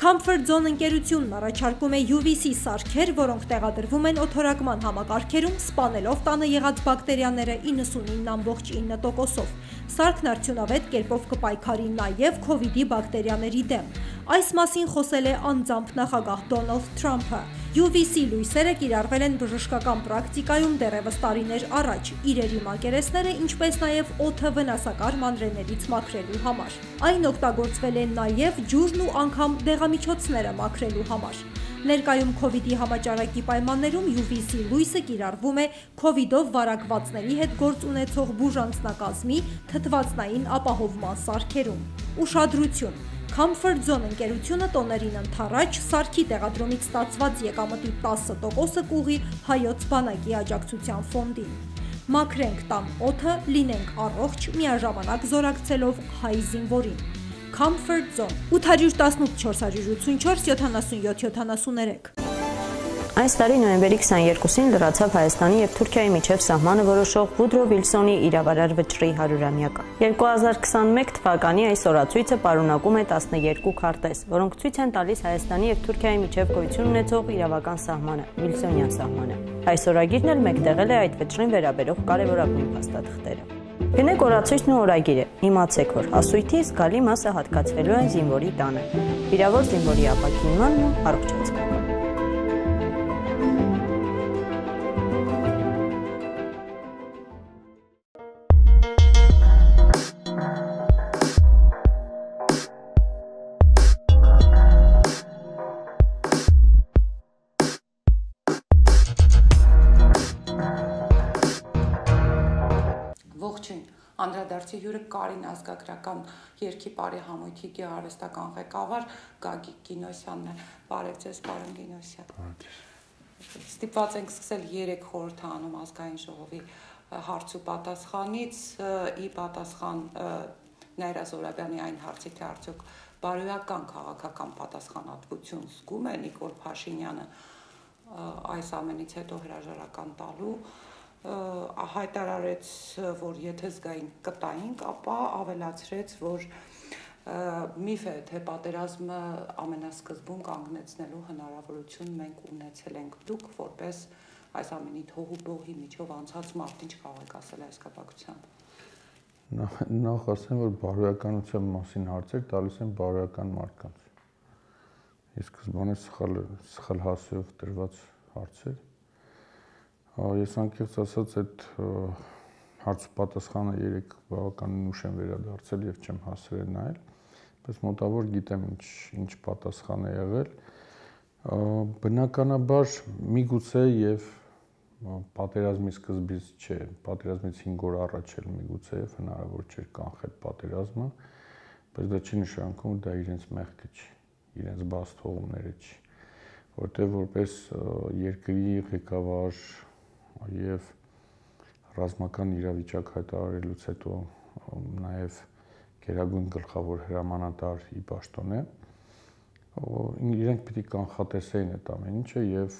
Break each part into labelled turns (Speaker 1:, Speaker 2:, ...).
Speaker 1: Comfort Zone ընկերությունն առաջարկում է UVC սարքեր, որոնք տեղադրվում են օդորակման համակարգերում, սպանելով տանը եղած բակտերիաները 99.9%-ով։ Սարքն արդյունավետ կերպով կպայքարի նաև COVID-ի բակտերիաների դեմ։ Այս մասին խոսել է անձամբ նախագահ Դոնալդ Թրամփը։ UVC լույսերը կիրառվել են բժշկական պրակտիկայում դեռևս տարիներ առաջ, իրերի մակերեսները, ինչպես նաև օդը վնասակար մանրէներից մաքրելու համար։ Այն օգտագործվել է նաև ջուրն ու անգամ դեղամիջոցները մաքրելու համար։ Ներկայում COVID-ի համաճարակի պայմաններում UVC լույսը կիրառվում է COVID-ով վարակվածների հետ գործ ունեցող բուժանձնակազմի թթվածնային ապահովման սարքերում։ Ուշադրություն! Comfort Zone ընկերությունը տոներին ընդառաջ սարքի տեղադրումից ստացված եկամտի 10%-ը կուղղի Հայոց բանակի աջակցության ֆոնդին։ Մաքրենք տան օդը, լինենք առողջ, միաժամանակ զորակցելով հայ զինվորին։ Comfort Zone 818 484 77 73
Speaker 2: Այս տարի նոյեմբերի 22-ին լրացավ Հայաստանի և Թուրքիայի միջև սահմանը որոշող Վուդրո Վիլսոնի իրավարար վճռի 100-ամյակը։ 2021 թվականի այս օրացույցը պարունակում է 12 քարտեզ, որոնք ցույց են տալիս Հայաստանի և Թուրքիայի միջև գոյություն ունեցող իրավական սահմանը, Վիլսոնյան սահմանը։ Այս օրագիրն էլ մեկտեղել է այդ վճռին վերաբերող կարևորագույն փաստաթղթերը։ Գնեք օրացույցն ու օրագիրը, իմացեք, որ հասույթի զգալի մասը հատկացվելու են զինվորի տանը, վիրավոր զինվորի ապաքինմանն ու առողջացմանը։
Speaker 3: Ողջույն, անդրադարձի հյուրը Կարին ազգագրական երգի բարի համույթի գեղարվեստական ղեկավար Գագիկ Գինոսյանն է։ Բարև ձեզ, պարոն Գինոսյան։ Ստիպված ենք սկսել 3 խորհրդանում ազգային ժողովի հարց ու պատասխանից, ի պատասխան Նաիրա Զոհրաբյանի այն հարցի, թե արդյոք բարոյական քաղաքական պատասխանատվություն զգում է Նիկոլ Փաշինյանը այս ամենից հետո հրաժարական տալու, հայտարարեց, որ եթե զգային կտայինք, ապա ավելացրեց, որ միֆ է, թե պատերազմը ամենասկզբում կանգնեցնելու հնարավորություն մենք ունեցել ենք։ Դուք որպես այս ամենի թող ու բողի միջով անցած մարդ ինչ կարող եք ասել այս կապակցությամբ։
Speaker 4: Նախ ասեմ, որ բարոյականության մասին հարցեր տալիս են բարոյական մարդկանց։ Իսկ սկզբանե սխալ հասցեով տրված հարցեր։ Ես անկեղծ ասած այդ հարց ու պատասխանը 3 բավականին ուշ եմ վերադարձել եւ չեմ հասցրել նայել, բայց մոտավոր գիտեմ ինչ պատասխան է եղել։ Բնականաբար միգուցե եւ պատերազմի սկզբից չէ, պատերազմից 5 օր առաջ էլ միգուցե եւ հնարավոր չէր կանխել պատերազմը, բայց դա չի նշանակում, որ դա իրենց մեղքը չի, իրենց բաց թողումները չի, որտեղ որպես երկրի ղեկավար եւ ռազմական իրավիճակ հայտարարելուց հետո նաեւ գերագույն գլխավոր հրամանատար ի պաշտոն է, իրենք պիտի կանխատեսեին այդ ամեն ինչը եւ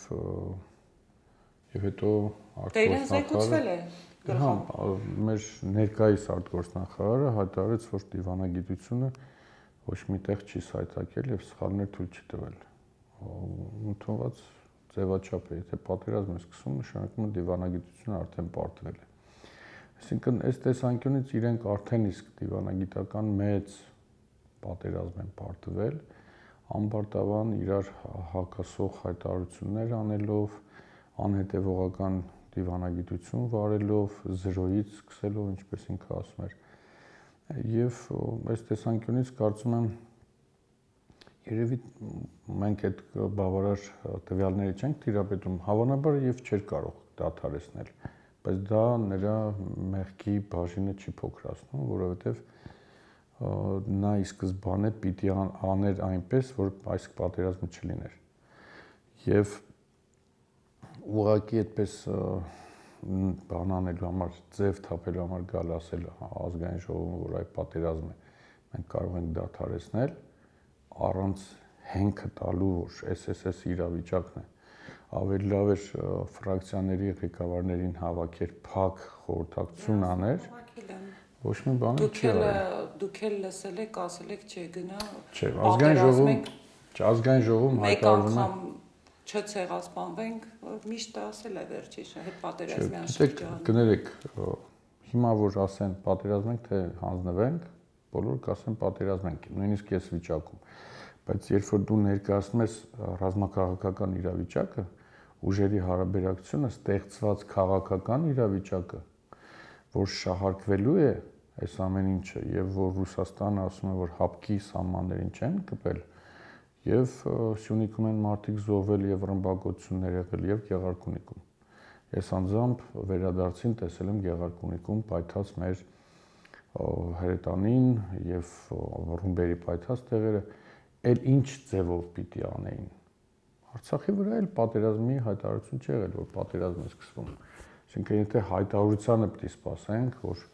Speaker 4: հետո
Speaker 3: արտգործնախարարը
Speaker 4: մեր ներկայիս արտգործնախարարը հայտարարեց, որ դիվանագիտությունը ոչ միտեղ չի սայթակել եւ սխալներ թույլ չի տվել։ Ընդունված ձևաչափ է, եթե պատերազմ է սկսում, նշանակում է դիվանագիտությունը արդեն պարտվել է։ Այսինքն այս տեսանկյունից իրենք արդեն իսկ դիվանագիտական մեծ պատերազմ են պարտվել, անպարտավան իրար հակասող հայտարարություններ անելով, անհետևողական դիվանագիտություն վարելով, զրոյից սկսելով, ինչպես ինքը ասում էր։ Եվ այս տեսանկյունից կարծում եմ երևի մենք այդ բավարար տվյալները չենք տիրապետում, հավանաբար եւ չէր կարող դադարեցնել, բայց դա նրա մեղքի բաժինը չի փոքրացնում, որովհետեւ նա ի սկզբանե պիտի աներ այնպես, որ այս պատերազմը չլիներ։ Եվ ուղղակի այդպես բան անելու համար, ձև թափելու համար գալ ասել ազգային ժողովում, որ այդ պատերազմը մենք կարող ենք դադարեցնել, առանց հենքը տալու, որ SSS իրավիճակն է, ավելի լավ էր ֆրակցիաների ղեկավարներին հավաքեր, փակ խորհրդակցություն աներ, ոչ մի բան չի արել։
Speaker 3: Դուք էլ լսել եք, ասել եք, չէ, գնա
Speaker 4: Չէ, ազգային ժողովում Ազգային ժողովում հայտարարվում է
Speaker 3: չցեղասպանվենք, միշտ ասել է վերջից, հետ պատերազմյան
Speaker 4: շրջանում։ Կներեք, հիմա որ ասեն պատերազմենք, թե հանձնվենք, բոլորը կասեն պատերազմենք, նույնիսկ այս վիճակում։ Բայց երբ որ դու ներկայացնում ես ռազմաքաղաքական իրավիճակը, ուժերի հարաբերակցությունը, ստեղծված քաղաքական իրավիճակը, որ շահարկվելու է այս ամեն ինչը եւ որ Ռուսաստանը ասում է, որ հապկի սահմաններին չեն կպել եւ Սյունիքում են մարդիկ զոհվել եւ ռմբակոծություններ եղել եւ Գեղարքունիքում։ Ես անձամբ վերադարձին տեսել եմ Գեղարքունիքում պայթած մեր հրետանին եւ ռումբերի պայթած տեղերը, էլ ինչ ձևով պիտի անեին։ Արցախի վրա էլ պատերազմի հայտարարություն չի եղել, որ պատերազմ է սկսվում։ Այսինքն եթե հայտարարությանը պիտի սպասենք, որ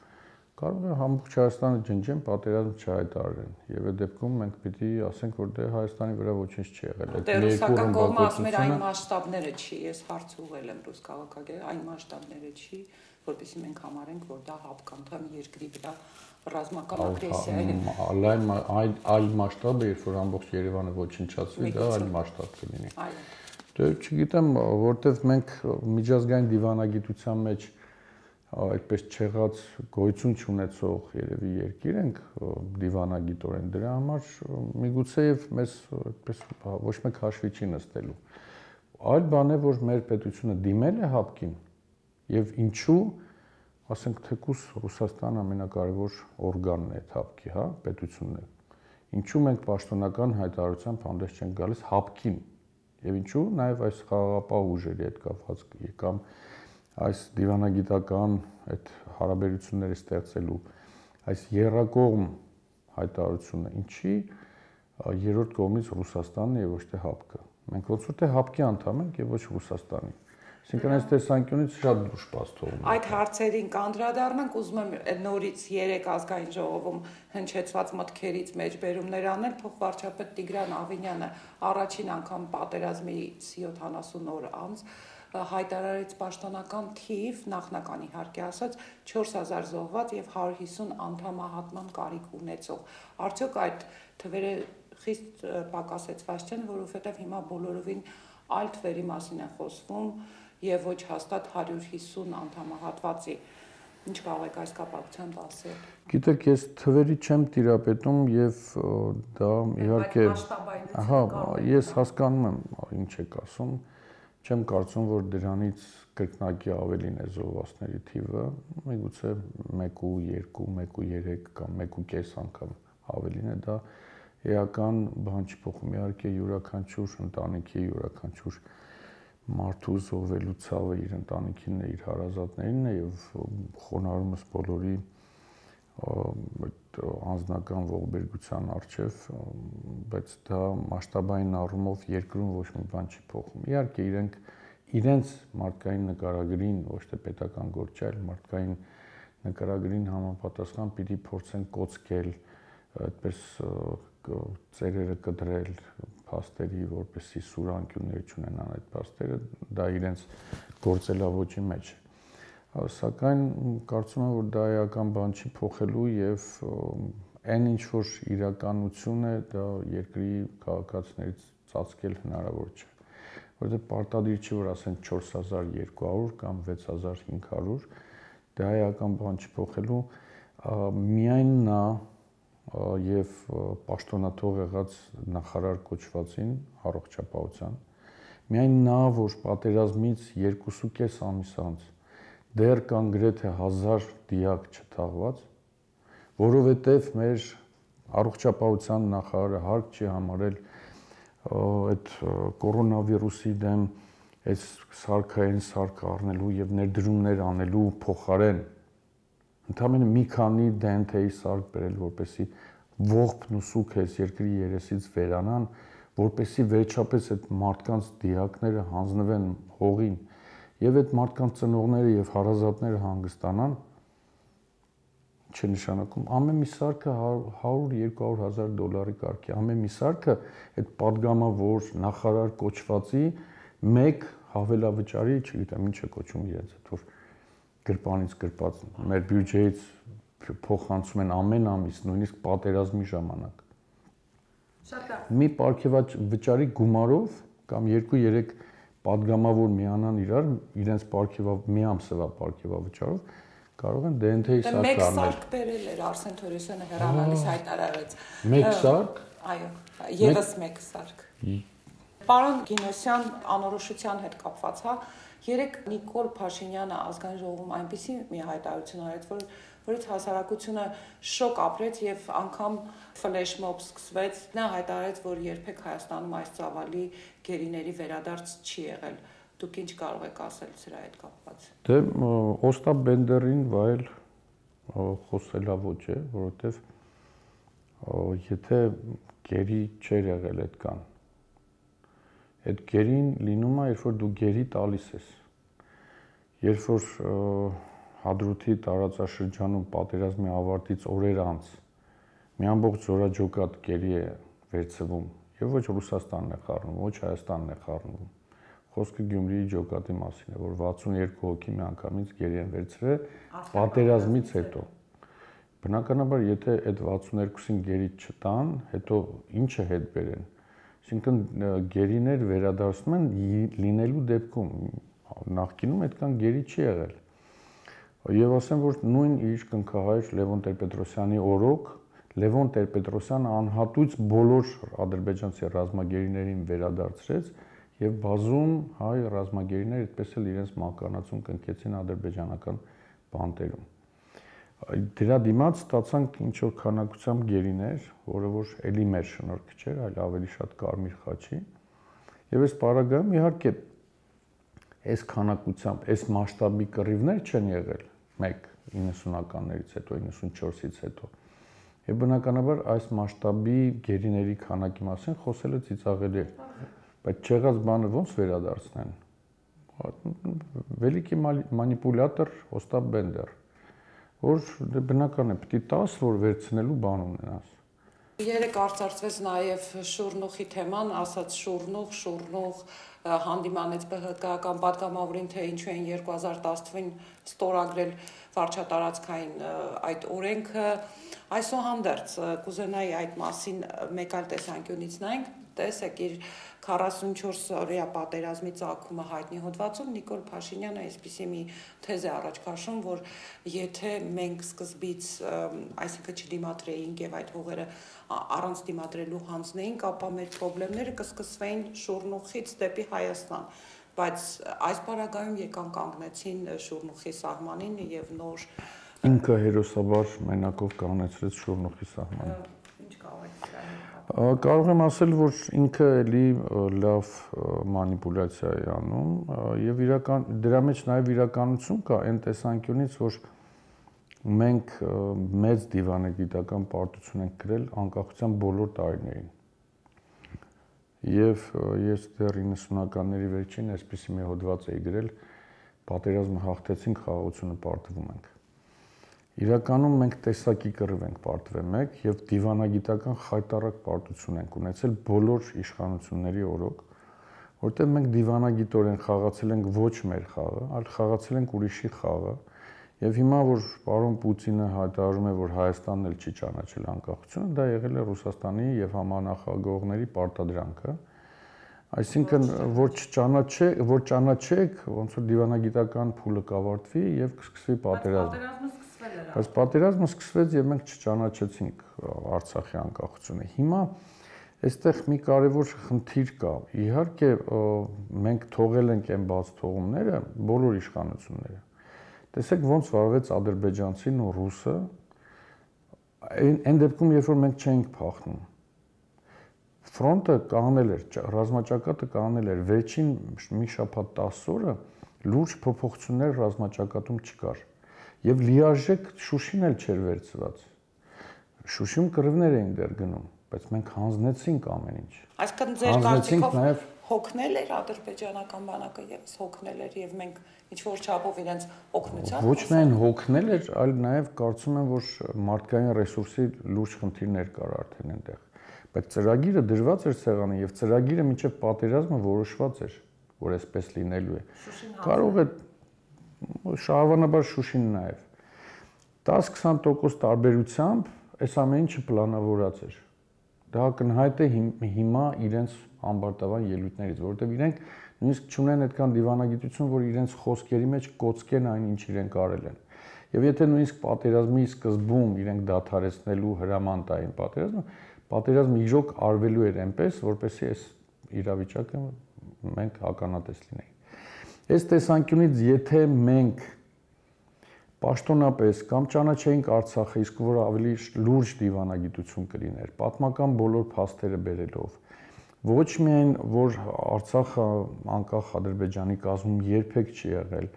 Speaker 4: կարող է ամբողջ Հայաստանը ջնջեն, պատերազմ չհայտարարեն։ Եվ այդ դեպքում մենք պիտի ասենք, որ դե Հայաստանի վրա ոչինչ չի եղել։
Speaker 3: Այդ ռուսական կողմը ասում էր այն մասշտաբները չի, ես հարց ուղղել եմ ռուս քաղաքագետ, այն մասշտաբները չի, որովհետեւ մենք համարենք, որ դա հապկանթամ երկրի վրա ռազմական ագրեսիա է։
Speaker 4: Այլ մասշտաբը, երբ որ ամբողջ Երևանը ոչնչացվի, դա այլ մասշտաբ կլինի։ Դե չգիտեմ, որտեվ մենք միջազգային դիվանագիտության մեջ այդպես չեղած գոյություն չունեցող երևի երկիր ենք դիվանագիտորեն, դրա համար միգուցե եւ մեզ այդպես ոչ մեկ հաշվի չի նստելու։ Այլ բան է, որ մեր պետությունը դիմել է հապկին եւ ինչու, ասենք թեկուս Ռուսաստանը ամենակարևոր օրգանն է այդ հապկի, հա, պետությունն է։ Ինչու մենք պաշտոնական հայտարարությամբ հանդես չենք գալիս հապկին եւ ինչու նաեւ այս խաղաղապահ ուժերի հետ կապված կամ այս դիվանագիտական այդ հարաբերությունները ստեղծելու այս երրակողմ հայտարարությունը ինչի երրորդ կողմից Ռուսաստանն է եւ ոչ թե հապկը։ Մենք ոնց որ թե հապկի անդամ ենք եւ ոչ Ռուսաստանի։ Այսինքն այս տեսանկյունից շատ դժվար թողնում։
Speaker 3: Այդ հարցերին կանդրադառնանք, ուզում եմ նորից 3 ազգային ժողովում հնչեցված մտքերից մեջբերումներ անել, փոխվարչապետ Տիգրան Ավինյանը առաջին անգամ պատերազմից 70 օր անց հայտարարեց պաշտոնական թիվ, նախնական իհարկե ասած 4000 զոհված եւ 150 անդամահատման կարիք ունեցող։ Արդյոք այդ թվերը խիստ պակասեցված չեն, որովհետեւ հիմա բոլորովին այլ թվերի մասին է խոսվում եւ ոչ հաստատ 150 անդամահատվածի։ Ինչ կարող եք այս կապակցությամբ ասել։
Speaker 4: Գիտեք, ես թվերի չեմ տիրապետում եւ դա իհարկե ահա, ես հասկանում եմ ինչ եք ասում։ Չեմ կարծում, որ դրանից կրկնակի ավելին է զոհվածների թիվը, միգուցե 1 ու 2, 1 ու 3 կամ 1.5 անգամ ավելին է, դա էական բան չի փոխում։ Իհարկե յուրաքանչյուր ընտանիքի, յուրաքանչյուր մարդու զոհվելու ցավը իր ընտանիքին է, իր հարազատներին է եւ խոնարհումս բոլորի անձնական ողբերգության արժեվ, բայց դա մասշտաբային առումով երկրում ոչ մի բան չի փոխում։ Իհարկե իրենց մարդկային նկարագրին, ոչ թե պետական գործ, այլ մարդկային նկարագրին համապատասխան պիտի փորձեն կոծկել, այդպես ծերերը կտրել փաստերի, որպեսզի սուրանկյուններ չունենան այդ փաստերը, դա իրենց գործելավոճի մեջ է։ Սակայն կարծում եմ, որ դա էական բան չի փոխելու եւ այն ինչ որ իրականություն է, դա երկրի քաղաքացիներից ծածկել հնարավոր չէ։ Որովհետեւ պարտադիր չի, որ ասեն 4200 կամ 6500, դա էական բան չի փոխելու, միայն նա եւ պաշտոնաթող եղած նախարար կոչվածին առողջապահության, միայն նա, որ պատերազմից 2.5 ամիս անց դեռ կան գրեթե 1000 դիակ չթաղված, որովհետև մեր առողջապահության նախարարը հարկ չի համարել այդ կորոնավիրուսի դեմ այս սարքային սարք առնելու եւ ներդրումներ անելու փոխարեն ընդամենը մի քանի դենթեի սարք բերել, որպեսզի ողբն ու սուքը այս երկրի երեսից վերանան, որպեսզի վերջապես այդ մարդկանց դիակները հանձնվեն հողին եւ այդ մարդկանց ծնողները եւ հարազատները հանգստանան, չի նշանակում ամեն մի սարքը 100-200 հազար դոլարի կարգի, ամեն մի սարքը այդ падգամավոր նախարար կոչվածի մեկ հավելավճարի, չգիտեմ ինչ է կոչում իրենց, այդ որ գրպանից գրպած մեր բյուջեից փոխանցում են ամեն ամիս, նույնիսկ պատերազմի ժամանակ։ մի պարգևավճարի գումարով կամ 2-3 պատգամավոր միանան իրենց մի ամսվա պարգևավճարով կարող են DNT-ի սարք
Speaker 3: առնել։ Մեկ սարք բերել էր Արսեն Թորոսյանը հեռանալիս հայտարարեց։
Speaker 4: Մեկ սարք։
Speaker 3: Այո, եւս մեկ սարք։ Պարոն Գինոսյան, անորոշության հետ կապված, հա, երեք Նիկոլ Փաշինյանը ազգային ժողովում այնպիսի մի հայտարարություն արեց, որից հասարակությունը շոկ ապրեց եւ անգամ ֆլեշմոբ սկսվեց։ Նա հայտարարեց, որ երբեք Հայաստանում այս ծավալի գերիների վերադարձ չի եղել։ Դուք ինչ կարող եք ասել սրա հետ կապված։
Speaker 4: Դե Օստապ Բենդերին վայել խոսելա ոչ է, որովհետեւ եթե գերի չէր եղել այդքան, այդ գերին լինում է, երբ որ դու գերի տալիս ես։ Երբ որ Հադրութի տարածաշրջանում պատերազմի ավարտից օրեր անց մի ամբողջ զորաջոկատ գերի է վերցվում, եւ ոչ Ռուսաստանն է խառնում, ոչ Հայաստանն է խառնում։ Խոսքը Գյումրիի ջոկատի մասին է, որ 62 հոգի մի անգամից գերի են վերցրել պատերազմից հետո։ Բնականաբար, եթե այդ 62-ին գերի չտան, հետո ինչը հետ բերեն։ Այսինքն գերիներ վերադարձնում են լինելու դեպքում, նախկինում այդքան գերի չի եղել։ Եվ ասեմ, որ նույն իր կնքահայր Լևոն Տեր-Պետրոսյանի օրոք Լևոն Տեր-Պետրոսյանը անհատույց բոլոր ադրբեջանցի ռազմագերիներին վերադարձրեց եւ բազում հայ ռազմագերիներ այդպես էլ իրենց մականացում կնքեցին ադրբեջանական բանտերում։ Դրա դիմաց ստացանք ինչ որ քանակությամբ գերիներ, որը որ էլի մեր շնորհքը չէր, այլ ավելի շատ կարմիր խաչի։ Եվ այս պարագայում իհարկե այս քանակությամբ, այս մասշտաբի կռիվներ չեն եղել 90-ականներից հետո, 94-ից հետո։ Եվ բնականաբար այս մասշտաբի գերիների քանակի մասին խոսելը ծիծաղելի է, բայց չեղած բանը ոնց վերադարձնեն։ Վելիկի մանիպուլյատոր Օստապ Բենդեր, որ բնական է, պիտի տաս, որ վերցնելու բան ունենաս։
Speaker 3: Երեք արծարծվեց նաև Շուրնուխի թեման, ասաց Շուրնուխ հանդիմանեց ԲՀԿ-ական պատգամավորին, թե ինչու են 2010-ին ստորագրել վարչատարածքային այդ օրենքը։ Այսուհանդերձ կուզենայի այդ մասին մեկ այլ տեսանկյունից նայենք, տեսեք իր 44-օրյա պատերազմի ծագումը հայտնի հոդվածում Նիկոլ Փաշինյանը այսպիսի մի թեզ է առաջ քաշում, որ եթե մենք սկզբից, այսինքն չդիմադրեինք եւ այդ հողերը առանց դիմադրելու հանձնեինք, ապա մեր խնդիրները կսկսվեին Շուրնուխից դեպի Հայաստան, բայց այս պարագայում եկան կանգնեցին Շուրնուխի սահմանին եւ նոր
Speaker 4: ինքը հերոսաբար մենակով կանգնեցրեց Շուրնուխի սահմանը։
Speaker 3: Ինչ կարող եք դրա
Speaker 4: Կարող եմ ասել, որ ինքը էլի լավ մանիպուլյացիա է անում եւ դրա մեջ նաեւ իրականություն կա այն տեսանկյունից, որ մենք մեծ դիվանագիտական պարտություն ենք կրել անկախության բոլոր տարիներին։ Եվ ես դեռ 90-ականների վերջին այսպիսի մի հոդված էի գրել, պատերազմը հաղթեցինք, խաղաղությունը պարտվում ենք։ Իրականում մենք տեսակի կռիվ ենք պարտվել մեկ եւ դիվանագիտական խայտառակ պարտություն ենք ունեցել բոլոր իշխանությունների օրոք, որտեղ մենք դիվանագիտորեն խաղացել ենք ոչ մեր խաղը, այլ խաղացել ենք ուրիշի խաղը, եւ հիմա որ պարոն Պուտինը հայտարարում է, որ Հայաստանն էլ չի ճանաչել անկախությունը, դա եղել է Ռուսաստանի եւ համանախագահողների պարտադրանքը, այսինքն որ ճանաչեք, ոնց որ դիվանագիտական փուլը կավարտվի եւ կսկսվի պատերազմը։ Բայց պատերազմը սկսվեց եւ մենք չճանաչեցինք Արցախի անկախությունը։ Հիմա այստեղ մի կարևոր խնդիր կա։ Իհարկե մենք թողել ենք այն բաց թողումները բոլոր իշխանությունները։ Տեսեք ոնց վարվեց ադրբեջանցին ու ռուսը այն դեպքում, երբ որ մենք չէինք փախնում։ Ֆրոնտը կանգնել էր, ռազմաճակատը կանգնել էր, վերջին մի շաբաթ 10 օրը լուրջ փոփոխություններ ռազմաճակատում չկար։ Եվ լիարժեք Շուշին էլ չէր վերցված։ Շուշիում կռիվներ էին դեռ գնում, բայց մենք հանձնեցինք ամեն ինչ։
Speaker 3: Այսինքն ձեր կարծիքով հոգնել էր ադրբեջանական բանակը եւս հոգնել էր եւ մենք ինչ որ չափով իրենց օգնությամբ
Speaker 4: ոչ միայն հոգնել էր, այլ նաեւ կարծում եմ, որ մարդկային ռեսուրսի լուրջ խնդիրներ կար արդեն այնտեղ։ Բայց ծրագիրը դրված էր սեղանին եւ ծրագիրը մինչեւ պատերազմը որոշված էր, որ այսպես լինելու է։ Կարող է շահավանաբար Շուշին նաև 10-20% տարբերությամբ այս ամեն ինչը պլանավորած էր։ դա կնհայտ է հիմա իրենց ամբարտավան ելույթներից, որովհետև իրենք նույնիսկ չունեն այդքան դիվանագիտություն, որ իրենց խոսքերի մեջ կոծկեն այն, ինչ իրենք արել են։ Եվ եթե նույնիսկ պատերազմի սկզբում իրենք դադարեցնելու հրաման տային պատերազմը իրոք արվելու էր այնպես, որպեսզի այս իրավիճակը մենք ականատես լինենք։ Այս տեսանկյունից եթե մենք պաշտոնապես կամ ճանաչեինք Արցախը, իսկ որ ավելի լուրջ դիվանագիտություն կլիներ, պատմական բոլոր փաստերը բերելով, ոչ միայն որ Արցախը անկախ Ադրբեջանի կազմում երբեք չի եղել,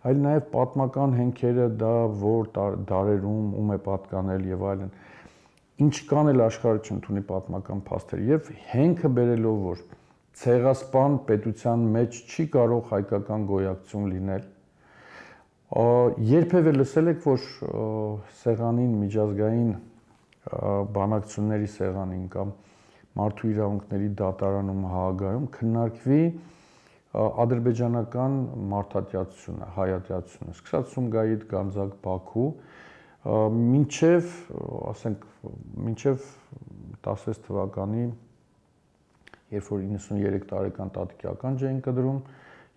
Speaker 4: այլ նաև պատմական հենքերը դա որ դարերում ում է պատկանել եւ այլն, ինչ կան էլ աշխարհը չընդունի պատմական փաստեր եւ հենքը բերելով որ ցեղասպան պետության մեջ չի կարող հայկական գոյակցություն լինել, երբևէ լսել եք որ սեղանին միջազգային բանակցությունների սեղանին կամ մարդու իրավունքների դատարանում Հաագայում քննարկվի ադրբեջանական մարդատյացությունը, հայատյացությունը, սկսած Սումգայիթ, Գանձակ, Բաքու, մինչև, ասենք, մինչև 16 թվականի, երբ որ 93 տարեկան տատիկական ջեին կդրում,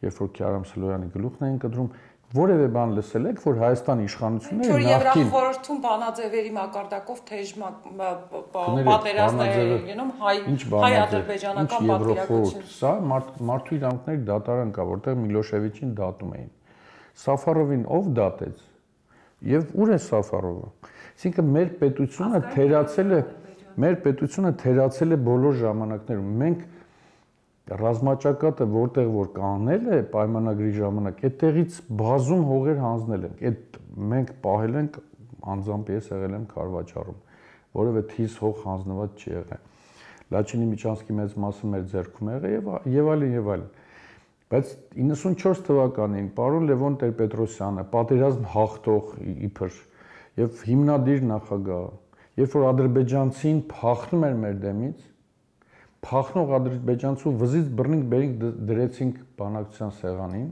Speaker 4: երբ որ Քյարամ Սլոյանի գլուխն էին կդրում, որևէ բան լսել եք, որ Հայաստանի իշխանությունները
Speaker 3: նախկին Եվրախորհրդում բանաձևերի մակարդակով թեժ պատերազմներ էին լինում հայ-ադրբեջանական պատվիրակություն։
Speaker 4: Սա մարդու իրավունքների դատարան կա, որտեղ Միլոշևիչին դատում էին։ Սաֆարովին ով դատեց։ Եվ ուր է Սաֆարովը։ Այսինքն մեր պետությունը թերացել է բոլոր ժամանակներում։ Մենք ռազմաճակատը որտեղ որ կանել է պայմանագրի ժամանակ, այդտեղից բազում հողեր հանձնել ենք։ Այդ մենք պահել ենք անձամբ ես եղել եմ Քարվաճառում, որովհետեւ թիզ հող հանձնված չի եղել։ Լաչինի Միչանսկի մեծ մասը մեր ձեռքում եղել եւ այլն։ Բայց 94 թվականին պարոն Լևոն Տեր-Պետրոսյանը, պատերազմ հաղթող իբր եւ հիմնադիր նախագահ, երբ որ ադրբեջանցին փախնում էր մեր դեմից, փախնող ադրբեջանցու վզից բռնինք բերինք դրեցինք բանակցության սեղանին,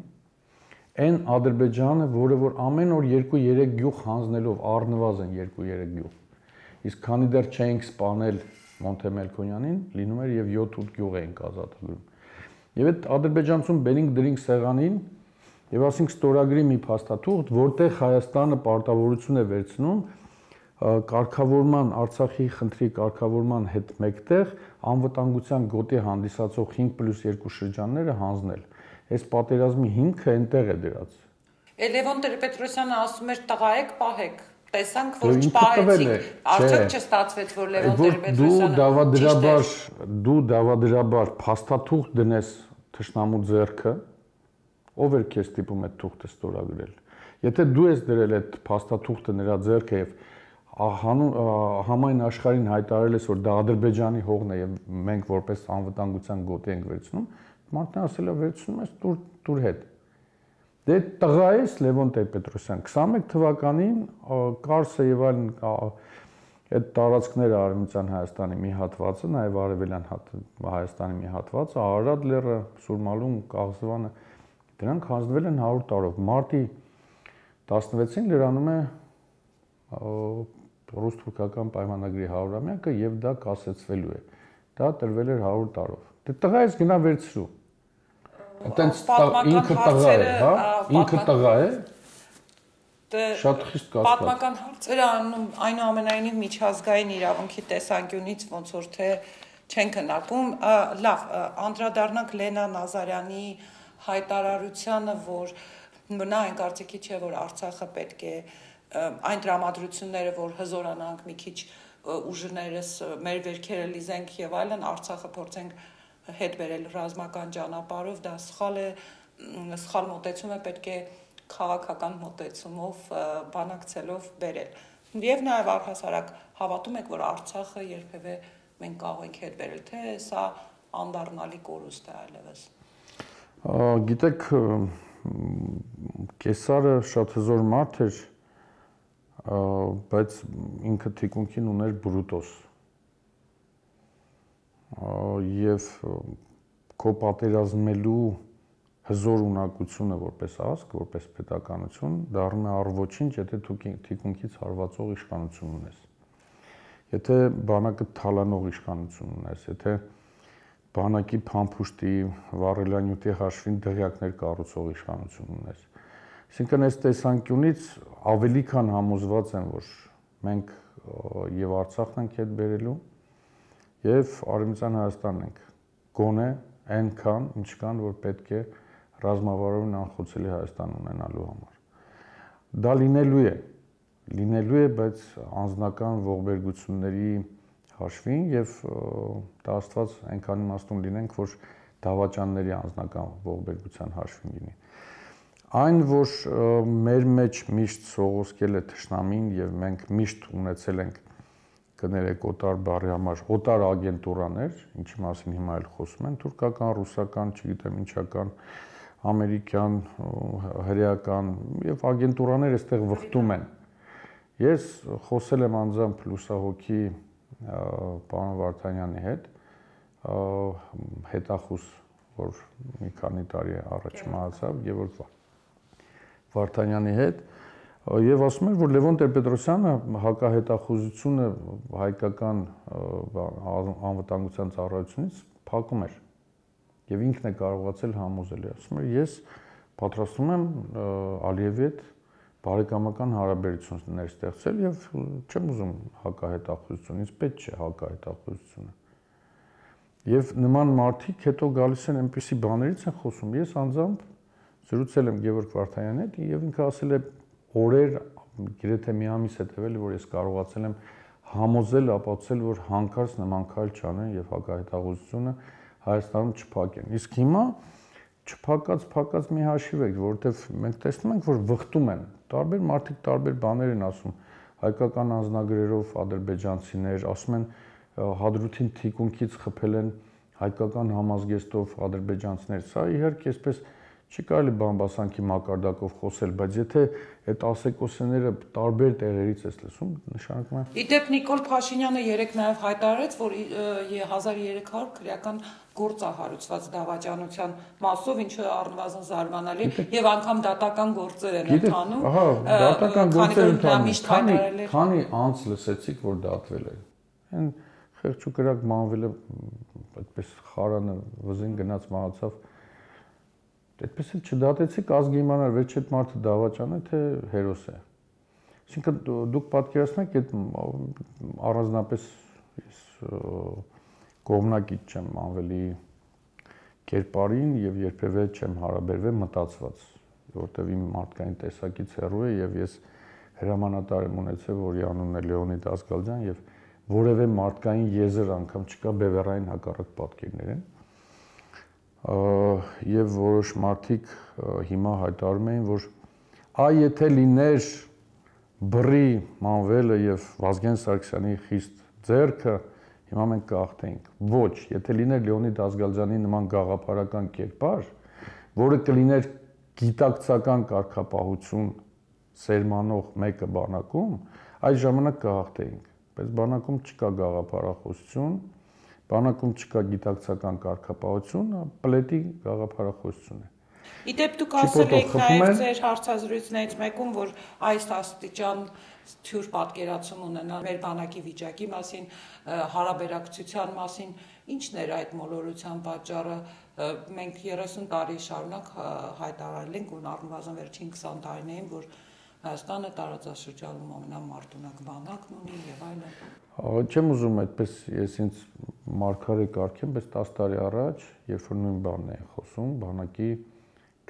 Speaker 4: այն Ադրբեջանը, որը որ ամեն օր 2-3 գյուղ հանձնելով առնվազն 2-3 գյուղ, իսկ քանի դեռ չէինք սպանել Մոնթե Մելքոնյանին, լինում էր եւ 7-8 գյուղ էինք ազատագրում։ Եվ այդ ադրբեջանցուն բերինք դրինք սեղանին եւ ասինք ստորագրի մի փաստաթուղթ, որտեղ Հայաստանը պարտավորություն է վերցնում կարգավորման Արցախի խնդրի կարգավորման հետ մեկտեղ անվտանգության գոտի հանդիսացող 5+2 շրջանները հանձնել։ Այս պատերազմի հիմքը այնտեղ է դրած։
Speaker 3: Լևոն Տեր-Պետրոսյանը ասում էր տղա եք, պահեք։ Տեսանք, որ չպահեցիք, արդյոք չստացվեց, որ Լևոն Տեր-Պետրոսյանը
Speaker 4: դու դավադրաբար փաստաթուղթ դնես թշնամու ձեռքը, ով էր քեզ ստիպում այդ թուղթը ստորագրել։ Եթե դու ես դրել այդ փաստաթուղթը նրա ձեռքը եւ համայն աշխարհին հայտարարել ես, որ դա Ադրբեջանի հողն է եւ մենք որպես անվտանգության գոտի ենք վերցնում, մարդն ասել է վերցնում ես դուր հետ։ Դե տղա ես Լևոն Տեր-Պետրոսյան 21 թվականին Կարսը եւ այլն այդ տարածքները Արևմտյան Հայաստանի մի հատվածը, նաեւ Արևելյան Հայաստանի մի հատվածը, Արարատ լեռը, Սուրմալուն, Կաղզվանը, դրանք հանձնվել են 100 տարով։ Մարտի 16-ին լրանում է ռուս-թուրքական պայմանագրի 100-ամյակը եւ դա կասեցվելու է։ Դա տրվել էր 100 տարով։ Դե տղա ես գնա վերցրու։ Այտենց ինքը տղա է, հա? Ինքը տղա է։ Շատ խիստ կասկած։
Speaker 3: Պատմական հարցերը այնուամենայնիվ միջազգային իրավունքի տեսանկյունից ոնց որ թե չեն քննարկում։ Լավ, անդրադառնանք Լենա Նազարյանի հայտարարությանը, որ նա այն կարծիքի չէ, որ Արցախը պետք է այն տրամադրությունները, որ հզորանանք մի քիչ ուժներս, մեր վերքերը լիզենք եւ այլն, Արցախը փորձենք հետ բերել ռազմական ճանապարհով, դա սխալ է, սխալ մոտեցում է, պետք է քաղաքական մոտեցումով բանակցելով բերել։ Եվ նաև առհասարակ հավատում եք, որ Արցախը երբևէ մենք կարող ենք հետ բերել, թե սա անդառնալի կորուստ է այլևս։
Speaker 4: Գիտեք, Կեսարը շատ հզոր մարդ էր, բայց ինքը թիկունքին ուներ Բրուտոս։ Եվ քո պատերազմելու հզոր ունակությունը որպես ազգ, որպես պետականություն դառնում է առ ոչինչ, եթե դու թիկունքից հարվածող իշխանություն ունես։ եթե բանակը թալանող իշխանություն ունես, եթե բանակի փամփուշտի, վառելանյութի հաշվին դղյակներ կառուցող իշխանություն ունես։ Այսինքն այս տեսանկյունից ավելի քան համոզված եմ, որ մենք եւ Արցախն ենք հետ բերելու եւ Արևմտյան Հայաստանն ենք գոնե այնքան, ինչքան որ պետք է ռազմավարորեն անխոցելի Հայաստան ունենալու համար։ Դա լինելու է, բայց անձնական ողբերգությունների հաշվին եւ դա Աստված այնքան իմաստուն լինենք, որ դավաճանների անձնական ողբերգության հաշվին լինի։ Այն, որ մեր մեջ միշտ սողոսկել է թշնամին եւ մենք միշտ ունեցել ենք կներեք օտար բառի համար օտար ագենտուրաներ, ինչի մասին հիմա էլ խոսում են, թուրքական, ռուսական, չգիտեմ ինչական, ամերիկյան, հրեական եւ ագենտուրաներ այստեղ վխտում են։ Ես խոսել եմ անձամբ լուսահոգի պարոն Վարդանյանի հետ, հետախուս, որ մի քանի տարի առաջ մահացավ, Գևորգ Վարդանյանի հետ, եւ ասում էր, որ Լևոն Տեր-Պետրոսյանը հակահետախուզությունը հայկական անվտանգության ծառայությունից փակում էր եւ ինքն է կարողացել համոզել։ Ասում էր, ես պատրաստում եմ Ալիևի հետ բարեկամական հարաբերություններ ստեղծել եւ չեմ ուզում հակահետախուզություն, ինձ պետք չէ հակահետախուզությունը։ Եվ նման մարդիկ հետո գալիս են այնպիսի բաներից են խոսում։ Ես անձամբ զրուցել եմ Գևորգ Վարդանյանի հետ եւ ինքը ասել է օրեր, գրեթե մի ամիս հետեւել, որ ես կարողացել եմ համոզել, ապացուցել, որ հանկարծ նման քայլ չանեն եւ հակահետախուզությունը Հայաստանում չփակեն։ Իսկ հիմա չփակած մի հաշիվ եք, որովհետեւ մենք տեսնում ենք, որ վխտում են։ Տարբեր մարդիկ տարբեր բաներ են ասում, հայկական անձնագրերով ադրբեջանցիներ, ասում են Հադրութին թիկունքից խփել են հայկական համազգեստով ադրբեջանցիներ։ Սա իհարկե այսպես չի կարելի բամբասանքի մակարդակով խոսել, բայց եթե այդ ասեկոսեները տարբեր տեղերից ես լսում, նշանակում է։
Speaker 3: Իդեպ Նիկոլ Փաշինյանը երեկ նաև հայտարարեց, որ 1300 քրեական գործ է հարուցված դավաճանության մասով, ինչը առնվազն զարմանալի եւ անգամ դատական գործեր են ընթանում։
Speaker 4: Ահա, դատական գործեր ընթանում։ Քանի անց լսեցիք, որ դատվել է։ Այն խեղճուկրակ մանվել է, այդպես խարանը վզին գնաց մահացավ։ Այդպես էլ չդատեցիք, ազգը իմանար, վերջ այդ մարդը դավաճան է, թե հերոս է։ Այսինքն դուք պատկերացնեք, այդ առանձնապես ես կողմնակից չեմ անվելի կերպարին եւ երբևէ չեմ հարաբերվել մտածված, որտեւ իմ մարդկային տեսակից հեռու է եւ ես հրամանատար եմ ունեցել, որի անունն է Լեոնիդ Ասգալյան եւ որևէ մարդկային եզր անգամ չկա բևեռային հակառակ պատկերներ են։ Եվ որոշ մարդիկ հիմա հայտարարում էին, որ եթե լիներ բռի մանվելը եւ Վազգեն Սարգսյանի խիստ ձեռքը, հիմա մենք կհաղթեինք։ Ոչ, եթե լիներ Լեոնիդ Ասգալյանի նման գաղափարական կերպար, որը կլիներ գիտակցական կարգապահություն սերմանող մեկը բանակում, այդ ժամանակ կհաղթեինք, բայց բանակում չկա գաղափարախոսություն, բանակում չկա գիտակցական կարգապահություն, պլետի գաղափարախոսություն է։
Speaker 3: Իդեպ դուք ասել եք նաև ձեր հարցազրույցներից մեկում, որ այս աստիճան թյուր պատկերացում ունենալ մեր բանակի վիճակի մասին, հարաբերակցության մասին, ի՞նչն էր այդ մոլորության պատճառը։ Մենք 30 տարի շարունակ հայտարարել ենք, ու առնվազն վերջին 20 տարիներին, որ Հայաստանը տարածաշրջանում ամենամարտունակ բանակն ունի եւ այլն։
Speaker 4: Չեմ ուզում այդպես ես ինձ մարգարե կարգեմ, բայց 10 տարի առաջ, երբ որ նույն բանն էի խոսում, բանակի